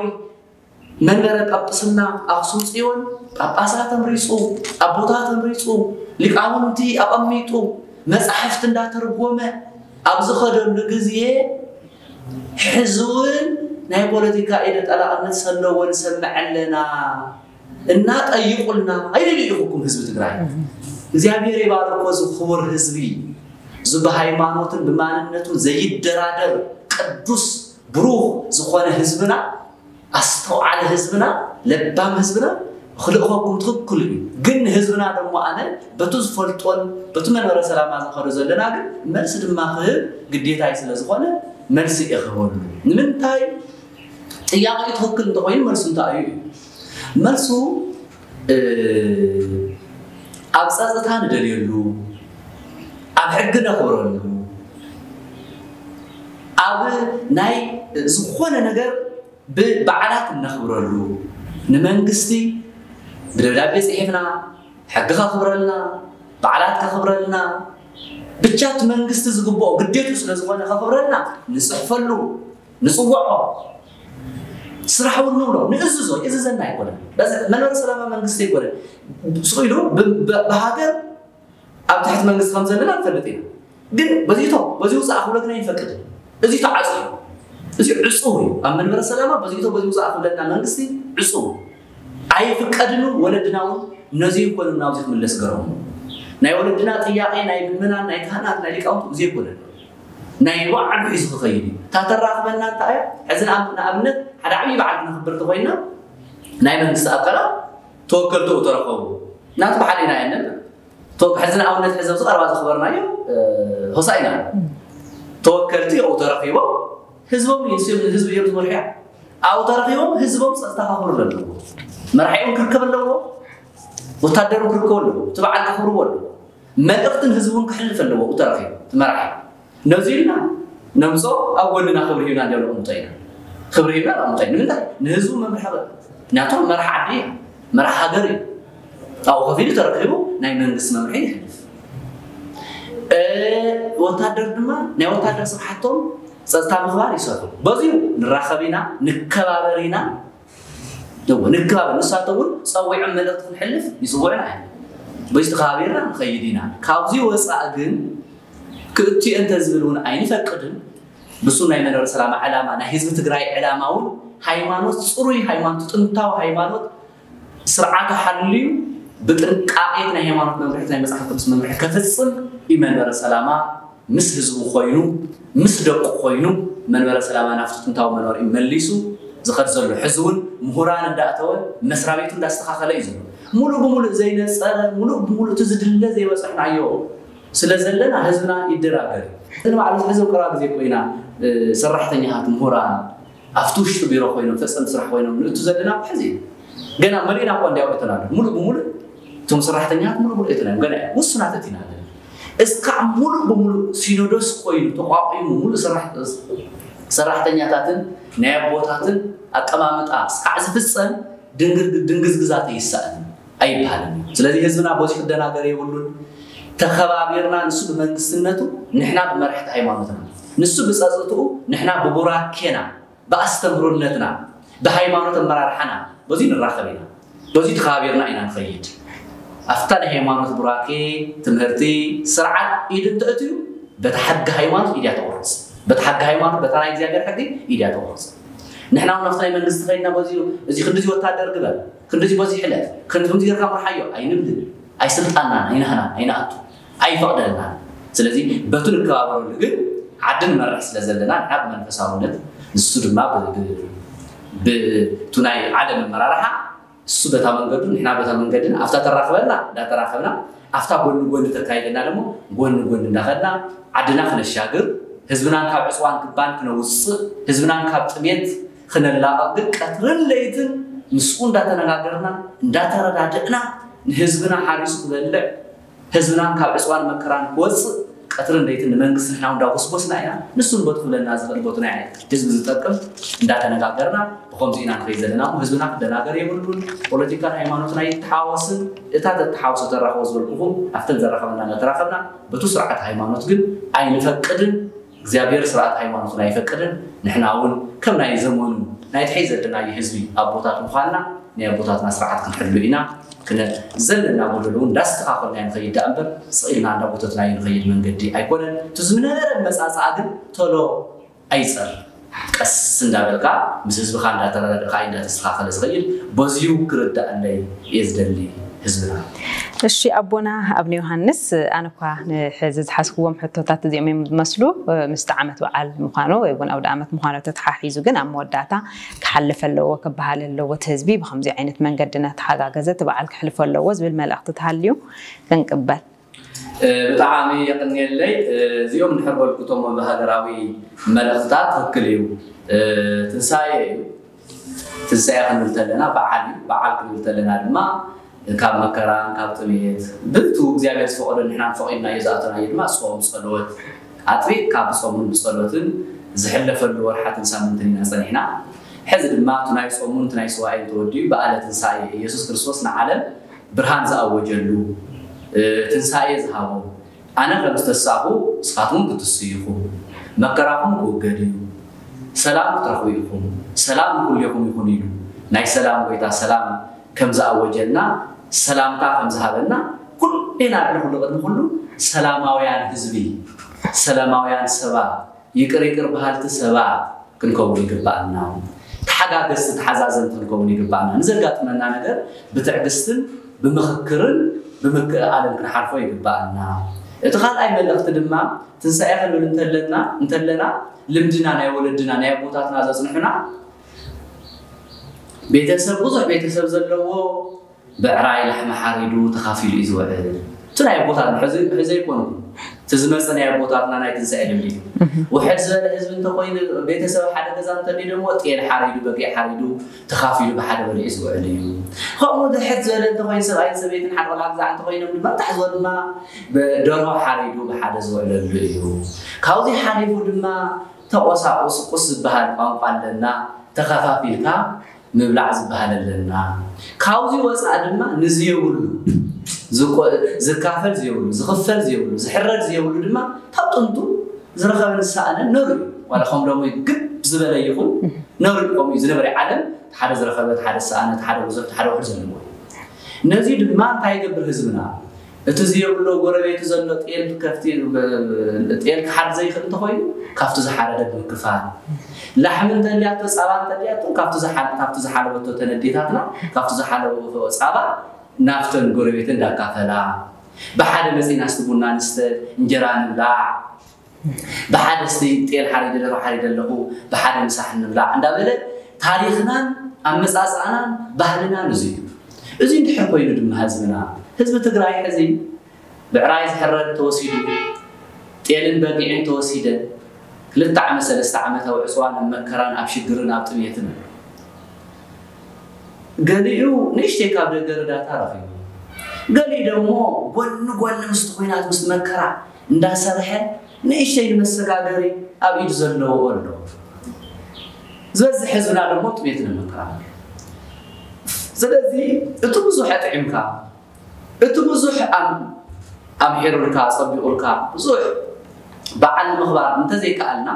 መንበረ ጳጳስና ኣኽሱም ጽዮን ጳጳሳት ተምሪጹ ኣቦታት ተምሪጹ ሊቃውንቲ ኣቐሚጡ መጻሕፍቲ እንዳተርጎመ ኣብ ዝኸደሉ ግዜ ሕዚ እውን ናይ ፖለቲካ ኢደ ጠላቕነት ሰለዎ ንሰምዕ ኣለና እና ጠይቁልና ኣይደልይኹኩም ህዝቢ ትግራይ እግዚኣብሔር ይባርኮ እዚ ክቡር ህዝቢ እዚ ብሃይማኖትን ብማንነቱን ዘይደራደር ቅዱስ ብሩኽ ዝኾነ ህዝብና ኣስተውዓሊ ህዝብና ለባም ህዝብና ክልእኸኩም ትኽክል እዩ ግን ንህዝብና ደሞ ኣነ በቱ ዝፈልጦን በቱ መንበረ ሰላማ ዝኸዶ ዘለና ግን መልሲ ድማ ክህብ ግዴታይ ስለ ዝኾነ መልሲ እየ ክህበሉ ንምንታይ ጥያቄ ትኽክል እንተኮይኑ መልሱ እንታይ እዩ መልሱ ኣብ ፀጥታ ንደልየሉ ኣብ ሕጊ ነኽብረሉ ኣብ ናይ ዝኾነ ነገር ብበዓላት እነኽብረሉ ንመንግስቲ ብደብዳቤ ፅሒፍና ሕጊ ከኽብረልና በዓላት ከኽብረልና ብቻ እቲ መንግስቲ ዝግብኦ ግዴቱ ስለዝኾነ ከኽብረልና ንፅሕፈሉ ንፅውዖ ስራሕ እውን ንብሎ ንእዝዞ ይእዝዘና ኣይኮነን መንበሪ ሰላማ መንግስቲ ኣይኮነን ስቕ ኢሉ ብሃገር ኣብ ትሕቲ መንግስቲ ከም ዘለና ንፈልጥ ኢና ግን በዚቶ በዚ ውፃእ ክብለግና ይፈቅድ እዚ ተዓፅ እዚ ዕፁው እዩ ኣብ መንበረ ሰላማ በዚቶ በዚ ውፃእ ክብለና መንግስቲ ዕፁው ኣይፍቀድን ወለድና እውን ነዚ ይኮኑ ናብዚ ክምለስ ገረሙ ናይ ወለድና ጥያቄ ናይ ምምናን ናይ ካህናት ናይ ሊቃውንት እዚ ይኮነ ናይ ባዕሉ ሒዙ ክኸይድ እዩ እታ ተራኽበና እንታይ እያ ሕዚ ንኣብነት ሓደ ዓብዪ በዓል ክነኽብር ተኮይና ናይ መንግስቲ ኣካላት ተወከልትኡ ተረኸቡ ናቱ ብሓደ ኢና የነብር ሕዚ ንኣብነት ሕዚ ኣብዚ ቀረባ ዘኽበርናዮ ሆሳኢና ተወከልቲ ኣብኡ ተረኺቦም ህዝቦም ህዝቢ እዮም ዝመርሕያ ኣብኡ ተረኺቦም ህዝቦም ፀጥታ ከኽብሩ ኣለዎ መራሒኦም ክርከብ ኣለዎ ወታደሩ ክርከቡ ኣለዎ እቲ በዓል ከኽብርዎ ኣለዎ መልእኽትን ህዝቡን ክሕልፍ ኣለዎ ተረኺቡ እቲ መራሒ ነዚ ኢልና ነምፅኦ ኣብ ጎንና ክብሪ ሂብና እንዲያው ነቕምጦ ኢና ክብሪ ሂብና ነቕምጦ ኢና ንምንታይ ንህዝቡ መምርሒ ምክንያቱ መራሕ ዓዲ እዩ መራሕ ሃገር እዩ ኣብኡ ከፊሉ ተረኪቡ ናይ መንግስቲ መምርሒ ይሕልፍ ወታደር ድማ ናይ ወታደር ስራሕቶም ጸጥታ ምኽባር ይሰርሑ። በዚሁ ንራኸብ ኢና፣ ንከባበር ኢና። እዎ፣ ንከባበር። ንሳቶም እውን ጸዊዖም መልእኽቲ ክንሕልፍ ይጽውዑና እዮም። በዚ ተኸባቢርና ንኸይድ ኢና። ካብዚ ወፃእ ግን ክእትዮ እንተ ዝብል እውን ኣይንፈቅድን። ብሱ ናይ መንበረ ሰላማ ዕላማ፣ ናይ ህዝቢ ትግራይ ዕላማ እውን ሃይማኖት፣ ፅሩይ ሃይማኖት፣ ጥንታዊ ሃይማኖት ስርዓቱ ሓልዩ ብጥንቃቄ ናይ ሃይማኖት መምርሒ፣ ናይ መፅሓፍ ቅዱስ መምርሒ ከፍፅም እዩ መንበረ ሰላማ። ምስ ህዝቡ ኮይኑ፣ ምስ ደቁ ኮይኑ መንበረ ሰላማ ናብቲ ጥንታዊ መንበሪኡ መሊሱ ዝኸድ ዘሎ። ሕዚ እውን ምሁራን እንዳእተወ መስሪያ ቤቱ እንዳስተኻኸለ እዩ ዘሎ። ሙሉእ ብሙሉእ ዘይነፀረ፣ ሙሉእ ብሙሉእ እቲ ዝድለ ዘይበፃሕናዮ ስለ ዘለና ህዝብና ይደራገር። እዚ ንባዕሉ ሕዚ ኣብ ቀረባ ግዜ ኮይና ሰራሕተኛታት፣ ምሁራን ኣብቲ ውሽጢ ቢሮ ኮይኖም ፈፀምቲ ስራሕ ኮይኖም ንእቱ ዘለና ሕዚ ገና መሊእና እኮ እንዲያው እተን ኣሎ። ሙሉእ ብሙሉእ እቶም ሰራሕተኛታት ሙሉእ ብሙሉእ እተን እዮም። ገና ውሱናት እቲና ኣለና። እስካዕ ሙሉእ ብሙሉእ ሲኖዶስ ኮይኑ ተቋቂሙ ሙሉእ ሰራሕ-፣ ሰራሕተኛታትን ናይ ኣቦታትን ኣቀማምጣ እስካዕ ዝፍፀም ድንግር-፣ ድንግዝግዛት ይሰኣን ኣይበሃልን እዩ። ስለዚ ህዝብና በዚ ክደናገር የብሉን። ተኸባቢርና ንሱ ብመንግስትነቱ ንሕና ብመራሕቲ ሃይማኖትና፣ ንሱ ብፀጥትኡ ንሕና ብቡራኬና ብኣስተምህሮነትና ብሃይማኖት ኣመራርሓና በዚ ንራኸብ ኢና። በዚ ተኸባቢርና ኢና ንኸይድ። ኣብታ ናይ ሃይማኖት ቡራኬ ትምህርቲ ስርዓት ኢድ እንተእትዩ በታ ሕጊ ሃይማኖት ኢድ እያ ተቑርፅ። በታ ሕጊ ሃይማኖት በታ ናይ እግዚኣብሔር ሕጊ ኢድ እያ ተቑርፅ። ንሕና እውን ኣብቲ ናይ መንግስቲ ከይድና በዚ እዚ ክንድዚ ወታደር ግበር፣ ክንድዚ በዚ ሕለፍ፣ ክንድዚ ጌርካ ምርሓዮ ኣይንብልን። ኣይስልጣንናን ኣይናህናን ኣይንኣቱ ኣይፈቕደልናን። ስለዚ በቱ ንከባበረሉ ግን ዓዲ ንመርሕ ስለ ዘለና ንሕና ብመንፈሳውነት ንሱ ድማ ብ-፣ ብ-፣ ብቱ ናይ ዓለም ኣመራርሓ እሱ በታ መንገዱ ንሕና በታ መንገድና ኣብታ ተራኽበና እንዳተራኸብና ኣብታ ጎኒ ጎኒ ተካይደና ደግሞ ጎኒ ጎኒ እንዳኸድና ዓድና ክነሻግር ህዝብናን ካብ ዕፅዋን ክባን ክነውፅእ ህዝብናን ካብ ጥሜት ክነላቐቕ ግን ቀትርን ለይትን ምስኡ እንዳተነጋገርና እንዳተረዳድእና ንህዝብና ሓሪሱ ክበልዕ ህዝብናን ካብ ዕፅዋን መከራን ክወፅእ ቀትርን ለይትን ንመንግስቲ ንሕና እንዳጎስጎስና ኢና። ንሱ ንቦቱ ክብለና ዝኽእል ቦቱ ናይ ህዝቢ ዝጠቅም እንዳተነጋገርና ብኸምዚ ኢና ንኸይድ ዘለና እሞ ህዝብና ክደናገር የብሉን። ፖለቲካን ሃይማኖትን ኣይተሓዋወስን። እታ ተተሓውሶ ተራኽቦ ዝበልኩኹም ኣብተን ዘራኸበና እናተራኸብና በቱ ስርዓት ሃይማኖት ግን ኣይንፈቅድን። እግዚኣብሔር ስርዓት ሃይማኖትን ኣይፈቅድን። ንሕና እውን ከም ናይ ዘመኑ ናይ ትሕይ ዘለናዮ ህዝቢ ኣቦታት ምዃንና ናይ ኣቦታትና ስርዓት ክንሕሉ ኢና። ክነ ዘለና ጎደሎ እውን እንዳስተኻኸልና ንኸይድ ደኣ እምበር ስቕ ኢልና እንዳጎተትናዮ ንኸይድ መንገዲ ኣይኮነን። እቲ ዝነበረ መጻጽኣ ግን ቶሎ ኣይጸር ቀስ እንዳበልካ ምስ ህዝብኻ እንዳተረዳድእካ እዩ እንዳተስተኻኸለ ዝኸይድ። በዚዩ ክርዳእለይ እየ ዝደሊ ህዝብና። እሺ ኣቦና ኣብነ ዮሃንስ፣ ኣነ እኳ ንሕዚ ዝሓዝክዎም ሕቶታት እዚኦም እዮም ዝመስሉ። ምስቲ ዓመት በዓል ምዃኑ ወይ እውን ኣውደ ዓመት ምዃኑ ተተሓሒዙ ግን ኣብ መወዳእታ ክሓልፍ ኣለዎ፣ ክበሃል ኣለዎ። እቲ ህዝቢ ብኸምዚ ዓይነት መንገዲ እናተሓጋገዘ እቲ በዓል ክሕልፎ ኣለዎ ዝብል መልእኽቲ ተሃልዩ ክንቅበል። እ፣ ብጣዕሚ የቐንየለይ። እ፣ እዚኦም እንድሕር በልኩቶም ሃገራዊ መልእኽትታት ትኽክል እዩ። እ፣ ትንሳኤ እዩ። ትንሳኤ ክንብል ተለና በዓል እዩ። በዓል ክንብል ተለና ድማ ካብ መከራን ካብ ጥሜት ብእቱ እግዚኣብሔር ዝፈቐዶ ንሕና ፈቒድናዮ ዝኣተናዮ ድማ ጾም፣ ጸሎት፣ ኣጥቢቕካ ብጾምን ብጸሎትን ዝሕለፈሉ ወርሓትን ሳምንትን ኢና ጸኒሕና። ሕዚ ድማ እቲ ናይ ጾሙን እቲ ናይ ስዋኤን ተወዲኡ በዓለ ትንሳኤ ኢየሱስ ክርስቶስ ንዓለም ብርሃን ዝኣወጀሉ፣ እ፣ ትንሳኤ ዝሃቦ፣ ኣነ ከም ዝተሳእኹ ንስኻትኩም ክትስኡ ኢኹም፣ መከራኹም ክውገድ እዩ፣ ሰላም ክትረኽቡ ኢኹም፣ ሰላም ንኹሌኹም ይኹን ኢሉ ናይ ሰላም ጎይታ ሰላም ከም ዝኣወጀልና፣ ሰላምታ ከም ዝሃበና፣ ኩሌና ልዕሊ ኩሉ ቅድሚ ኩሉ ሰላማውያን ህዝቢ፣ ሰላማውያን ሰባት፣ ይቅር ይቅር በሃልቲ ሰባት ክንከውን ይግባኣና። ተሓጋገዝቲ፣ ተሓዛዘንቲ ክንከውን ይግባኣና። ንዘጋጥመና ነገር ብትዕግስትን ብምኽክርን ብምክእኣልን ክንሓልፎ ይግባኣና። እቲ ካልኣይ መልእኽቲ ድማ ትንሳኤ ክንብል እንተለና፣ እንተለና ልምድና ናይ ወለድና ናይ ኣቦታትና ዘጽንሑና ቤተሰብ፣ ብዙሕ ቤተሰብ ዘለዎ ብዕራይ ላሕሚ ሓሪዱ ተኻፊሉ እዩ ዝውዕል። እቲ ናይ ኣቦታትና፣ ሕዚ፣ ሕዚ ኣይኮንኩን። እቲ ዝመጸ ናይ ኣቦታትና ናይ ትንሳኤ ልምዲ እዩ። እህ። ውሕድ ዝበለ ህዝቢ እንተኾይኑ፣ ቤተሰብ ሓደ ገዛ እንተልዩ፣ ደግሞ ጤል ሓሪዱ፣ በጊዕ ሓሪዱ፣ ተኻፊሉ ብሓደ በሊዑ ዝውዕል እዩ። ከምኡ ድሕት ዝበለ እንተኾይኑ፣ ሰብኣይን ሰበይትን ሓደ ቆልዓ ግዛዕ እንተኾይኖም ድማ፣ ታሕ ዝበሉ ድማ ብደርሆ ሓሪዱ ብሓደ ዝውዕለሉ እዩ። ካብዚ ሓሊፉ ድማ ተቆሳቁስ ቁስ ዝበሃል ቋንቋ ኣለና፣ ተኸፋፊልካ ምብላዕ ዝበሃል ኣለና። ካብዚ ወፃእ ድማ ንዝየብሉ ዝቆ- ዝካፈል ዘየብሉ፣ ዝኽፈል ዘየብሉ፣ ዝሕረድ ዘየብሉ ድማ ካብ ጥንቱ ዝረኸበን ዝሰኣነን ነሩ እዩ። ዋላ ከም ሎሚ ግብ ዝበለ ይኹን ነሩ እዩ። ከምኡ እዩ ዝነበረ። ዓለም ሓደ ዝረኸበ፣ ሓደ ዝሰኣነ፣ ሓደ ብዙሕ፣ ሓደ ውሑድ ዘለዎ እዩ። ነዚ ድማ እንታይ ይገብር ህዝብና? እቲ ዝየብሎ ጎረቤቱ ዘሎ ጤል ከፍቲ ጤል ክሓርድ ዘይኽእል እንተኾይኑ ካብቲ ዝሓረደ ብምክፋል፣ ላሕሚ እንተልያቶ፣ ፃባ እንተልያቶ ካብቲ ዝሓል- ካብቲ ዝሓለበቶ ተነዴታትና ካብቲ ዝሓለበቶ ፃባ ናብተን ጎረቤት እንዳካፈላ፣ ብሓደ መፂና እስቲ ቡና ንስተ፣ እንጀራ ንብላዕ፣ ብሓደ እስቲ ጤል ሓሪደ፣ ደርሆ ሓሪደ ኣለኹ፣ ብሓደ ምሳሕ ንብላዕ እንዳበለ ታሪኽናን ኣመፃፅኣናን ባህልናን እዚ እዩ። እዚ እንድሕር ኮይኑ ድማ ህዝብና፣ ህዝቢ ትግራይ ሕዚ ብዕራይ ዝሕረድ ተወሲዱ፣ ጤልን በጊዕን ተወሲደ፣ ክልተ ዓመት ሰለስተ ዓመት ኣብ ዕፅዋን ኣብ መከራን ኣብ ሽግርን ኣብ ጥሜትን ኣሎ። ገሊኡ ንእሽተይ ካብ ደገ ርዳታ ረኺቡ፣ ገሊኡ ደግሞ ጎኒ ጎኒ ምስቲ ኹናት ምስቲ መከራ እንዳሰርሐ ንእሽተይ ንመሰጋገሪ ኣብ ኢድ ዘለዎ ኣሎ። ዝበዝሕ ህዝብና ደግሞ ጥሜት ንመከራ። ስለዚ እቲ ብዙሕ ኣጥዒምካ፣ እቲ ብዙሕ ኣም- ኣምሒሩልካ፣ ኣጸቢቑልካ፣ ብዙሕ በዓል ንምኽባር እንተዘይከኣልና፣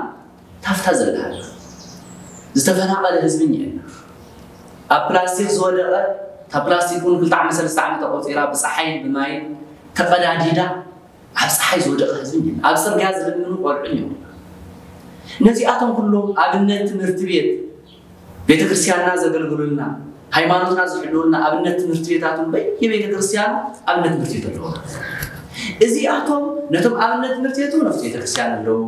ታፍታ ዘላሃልና ዝተፈናቐለ ህዝቢ እኒአና። ኣብ ፕላስቲክ ዝወደቐ፣ እታ ፕላስቲክ እውን ክልተ ዓመት ሰለስተ ዓመት ኣቆፂራ ብፀሓይን ብማይን ተቐዳዲዳ ኣብ ፀሓይ ዝወደቐ ህዝቢ እኒአና። ኣብ ፅርግያ ዝልምኑ ቆልዑ እኒአና። ነዚኣቶም ኩሎም ኣብነት ትምህርቲ ቤት ቤተ ክርስቲያንና ዘገልግሉልና፣ ሃይማኖትና ዝሕልውልና ኣብነት ትምህርቲ ቤታት እውን በየቤተ ክርስቲያኑ ኣብነት ትምህርቲ ቤት ኣለዎ። እዚኣቶም ነቶም ኣብነት ትምህርቲ ቤት እውን ኣብቲ ቤተ ክርስቲያን ኣለዉ።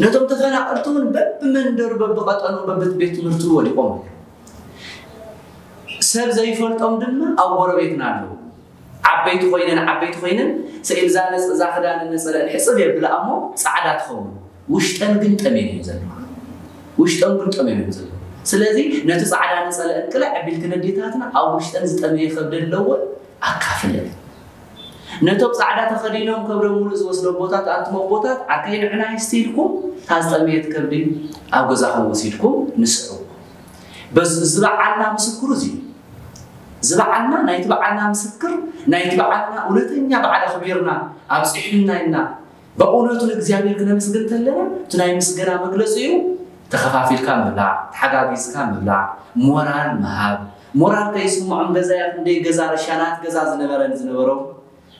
ነቶም ተፈናቐልቲ እውን በብመንደሩ፣ በብቐጠኑ፣ በብቤት ትምህርቱ ወዲቖም ኣለዉ። ሰብ ዘይፈልጦም ድማ ኣብ ጎረቤትና ኣለዉ። ዓበይቲ ኮይነን ዓበይቲ ኮይነን ስኢል እዛ ነፅ- እዛ ክዳን ነፀለአን ሕፅብ የብላ እሞ ፃዕዳ ትኸውን፣ ውሽጠን ግን ጠሜን እዮም ዘለዋ። ውሽጠን ግን ጠሜን እዮም ዘለዋ። ስለዚ ነቲ ፃዕዳ ነፀለአን ቅልዕ ኣቢልክን ኣዴታትና ኣብ ውሽጠን ዝጠመየ ከብዲ ኣለወን ኣካፍለን። ነቶም ፃዕዳ ተኸዲኖም ከብዶም ሙሉእ ዝወስዶ ኣቦታት ኣንቱም ኣቦታት ዓርከይ ንዕና ይስቲ ኢልኩም እታ ዝጠመየት ከብዲ ኣብ ገዛኹም ወሲድኩም ንስዕዎ። በዚ ዝበዓልና ምስክሩ እዚ እዩ። ዝበዓልና ናይቲ በዓልና ምስክር ናይቲ በዓልና እውነተኛ በዓል ኣኽቢርና ኣብፂሑና ኢልና ብእውነቱ ንእግዚኣብሔር ክነመስግን እንተለና እቲ ናይ ምስገና መግለፂኡ ተኸፋፊልካ ምብላዕ፣ ተሓጋጊዝካ ምብላዕ፣ ሞራል ምሃብ። ሞራል ከይስምዖም ገዛ እያ ክንደይ ገዛ ረሻናት ገዛ ዝነበረን ዝነበሮም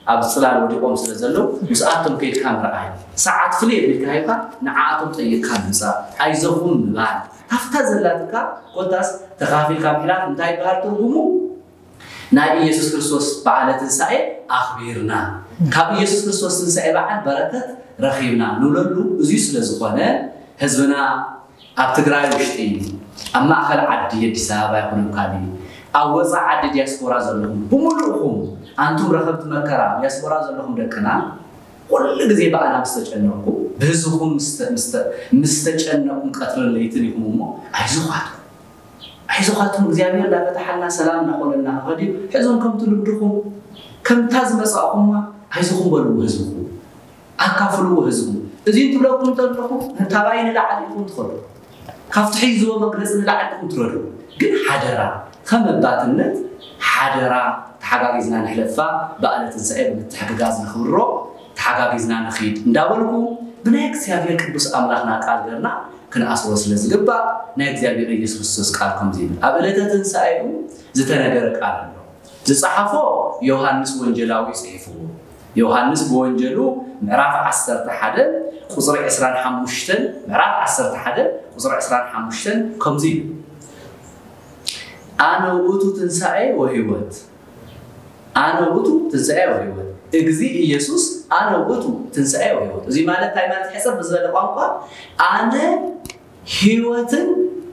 ኣብ ፅላል ወዲቖም ስለ ዘለዉ ምስኣቶም ከይድካ ምርኣይ፣ ሰዓት ፍልይ ኣቢልካ ሂብካ ንዓኣቶም ጠይቕካ ምምፃእ፣ ኣይዞኹም ምባል፣ ካብታ ዘላትካ ኮታስ ተኻፊልካ ምሕላፍ እንታይ ይበሃል ትርጉሙ? ናይ ኢየሱስ ክርስቶስ በዓለ ትንሳኤ ኣኽቢርና፣ ካብ ኢየሱስ ክርስቶስ ትንሳኤ በዓል በረከት ረኺብና ንብለሉ። እዙይ ስለ ዝኾነ ህዝብና ኣብ ትግራይ ውሽጢ፣ ኣብ ማእኸል ዓዲ ኣዲስ ኣበባ ይኹን ኣብ ካሊእ፣ ኣብ ወፃኢ ዓዲ ዲያስፖራ ዘለኹም ብምሉእኹም ኣንቱም ረኸብቲ መከራ ኣብ ዲያስፖራ ዘለኹም ደቅና፣ ኩሉ ግዜ ብኣና ምስ ተጨነቕኩም፣ ብህዝብኹም ምስ ተ- ምስ ተ- ምስ ተጨነቕኩም ቀትርን ለይትን ኢኹም እሞ ኣይዞኻትኩም። ኣይዞኻትኩም፣ እግዚኣብሔር እንዳፈትሓልና ሰላም እንዳኾነልና ክኸድ እዩ። ሕዞም ከምቲ ልምድኹም ከምታ ዝመፃእኹማ ኣይዞኹም በልዎ ህዝብኹም። ኣካፍልዎ ህዝቡ። እዚ እንትብለኩም እንተለኹ ታባይ ንላዕሊ ኢኹም ትኸዱ። ካብቲ ሒዝዎ መግለፂ ንላዕሊ ኢኹም ትረዱ። ግን ሓደራ ከም ኣባትነት ሓደራ ተሓጋጊዝና ንሕለፋ። በዓለ ትንሳኤ ብምትሕግጋዝ ንኽብሮ ተሓጋጊዝና ንኺድ እንዳበልኩ ብናይ እግዚኣብሔር ቅዱስ ኣምላኽና ቃል ገርና ክንኣስሮ ስለ ዝግባእ ናይ እግዚኣብሔር ኢየሱስ ክርስቶስ ቃል ከምዚ ይብል። ኣብ ዕለተ ትንሳኤኡ ዝተነገረ ቃል ኣሎ። ዝጸሓፎ ዮሃንስ ወንጀላዊ ጽሒፍዎ። ዮሃንስ ብወንጀሉ ምዕራፍ ዓሰርተ ሓደ ቁጽሪ ዕስራን ሓሙሽተን፣ ምዕራፍ ዓሰርተ ሓደ ቁጽሪ ዕስራን ሓሙሽተን ከምዚ እዩ። ኣነ ውእቱ ትንሳኤ ወህይወት። ኣነ ውእቱ ትንሳኤ ወህይወት። እግዚእ ኢየሱስ ኣነ ውእቱ ትንሳኤ ወህይወት። እዚ ማለት እንታይ ማለት ሕጽር ብዝበለ ቋንቋ ኣነ ህይወትን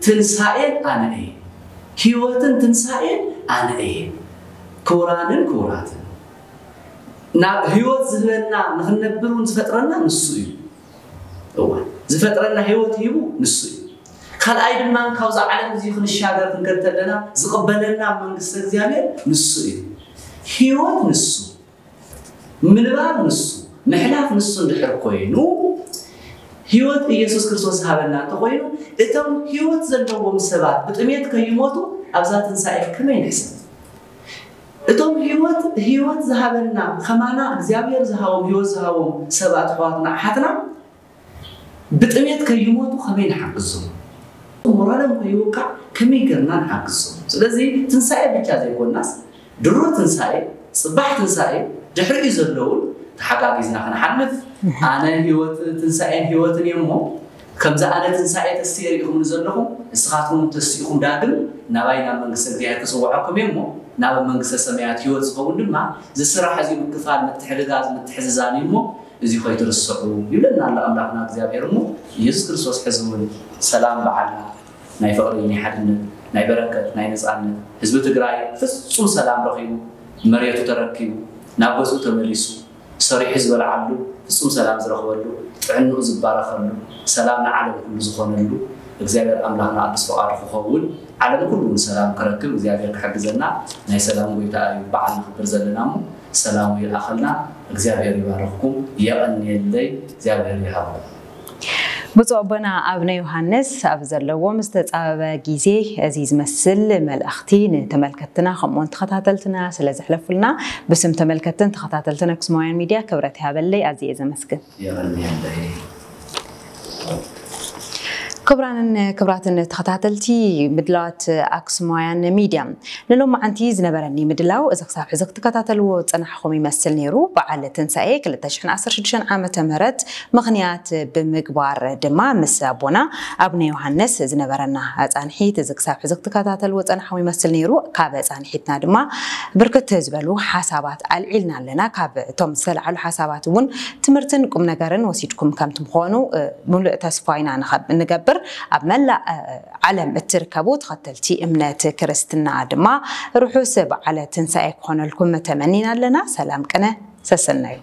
ትንሳኤን ኣነ እየ። ህይወትን ትንሳኤን ኣነ እየ። ክቡራንን ክቡራትን ናብ ህይወት ዝህበና ንኽንነብር እውን ዝፈጥረና ንሱ እዩ። እወ ዝፈጥረና ህይወት ሂቡ ንሱ እዩ። ካልኣይ ድማ ካብዛ ዓለም እዚ ክንሻገር ክንከድ ተለና ዝቕበለና መንግስቲ እግዚኣብሔር ንሱ እዩ። ህይወት ንሱ ምንባር ንሱ ምሕላፍ ንሱ እንድሕር ኮይኑ ህይወት ኢየሱስ ክርስቶስ ዝሃበና እንተኾይኑ እቶም ህይወት ዘለዎም ሰባት ብጥሜት ከይሞቱ ኣብዛ ትንሳኤ ከመይ ንሕሰብ? እቶም ህይወት ህይወት ዝሃበና ከማና እግዚኣብሔር ዝሃቦም ህይወት ዝሃቦም ሰባት ኣሕዋትና ኣሓትና ብጥሜት ከይሞቱ ከመይ ንሓግዞም? ሞራሎም ከይውቃዕ ከመይ ገርና ንሓግዞም? ስለዚ ትንሳኤ ብቻ ዘይኮናስ ድሮ ትንሳኤ፣ ጽባሕ ትንሳኤ፣ ድሕሪኡ ዘለውን ተሓጋጊዝና ክንሓልፍ ኣነ ህይወት ትንሳኤን ህይወትን እየ እሞ ከምዚ ኣነ ትንሳኤ ተስየ ርኢኹምኒ ዘለኹም ንስኻትኩም ተስኢኹም ዳግም ናባይ ናብ መንግስቲ እግዚኣብሔር ክጽውዐኩም እየ እሞ ናብ መንግስተ ሰማያት ህይወት ዝኸውን ድማ ዝስራሕ እዚ ምክፋል ምትሕግጋዝ ምትሕዝዛን እዩ እሞ እዚ ከይትርስዑ ይብለና ኣሎ ኣምላኽና እግዚኣብሔር እሞ ኢየሱስ ክርስቶስ ሕዚ እውን ሰላም በዓልና ናይ ፍቕሪ ናይ ሓድነት ናይ በረከት ናይ ነፃነት ህዝቢ ትግራይ ፍፁም ሰላም ረኺቡ መሬቱ ተረኪቡ ናብ ገዝኡ ተመሊሱ ሰሪሑ ዝበልዓሉ ፍፁም ሰላም ዝረኽበሉ ጥዕንኡ ዝባረኸሉ ሰላም ንዓለም ኩሉ ዝኾነሉ እግዚኣብሔር ኣምላኽና ቅዱስ ፍቓዱ ክኸውን ዓለም ኩሉ እውን ሰላም ክረክብ እግዚኣብሔር ክሕግዘና ናይ ሰላም ጎይታ እዩ በዓል ንኽብር ዘለና እሞ ሰላሙ ይልኣኸልና እግዚኣብሔር ይባርኽኩም የቐንየለይ እግዚኣብሔር ይሃብኩም ብፁዕ ኣቦና ኣብነ ዮሃንስ ኣብ ዘለዎም ዝተፃበበ ግዜ እዚ ዝመስል መልእኽቲ ንተመልከትትና ከምኡውን ተኸታተልትና ስለ ዘሕለፉልና ብስም ተመልከትን ተኸታተልትን ኣክሱማውያን ሚድያ ክብረት ይሃበለይ ኣዝየ ዘመስግን። የቐንየለይ። ክቡራንን ክቡራትን ተኸታተልቲ ምድላዋት ኣክሱማውያን ሚድያ ንሎማዓንቲ ዝነበረኒ ምድላው እዚ ክሳብ ሕዚ ክትከታተልዎ ዝፀናሕኹም ይመስል ነይሩ። በዓል ትንሳኤ ክልተ ሽሕን ዓሰርተ ሽዱሽተን ዓመተ ምህረት ምኽንያት ብምግባር ድማ ምስ ኣቦና ኣብነ ዮሃንስ ዝነበረና ፃንሒት እዚ ክሳብ ሕዚ ክትከታተልዎ ዝፀናሕኹም ይመስል ነይሩ። ካብ ፃንሒትና ድማ ብርክት ዝበሉ ሓሳባት ኣልዒልና ኣለና። ካብ እቶም ዝተለዓሉ ሓሳባት እውን ትምህርትን ቁም ነገርን ወሲድኩም ከም ትምኾኑ ሙሉእ ተስፋ ኢና ንገብር። ኣብ መላእ ዓለም እትርከቡ ተኸተልቲ እምነት ክርስትና ድማ ርሑስ በዓለ ትንሳኤ ክኾነልኩም ተመኒና ኣለና። ሰላም ቅነ ሰሰናዩ።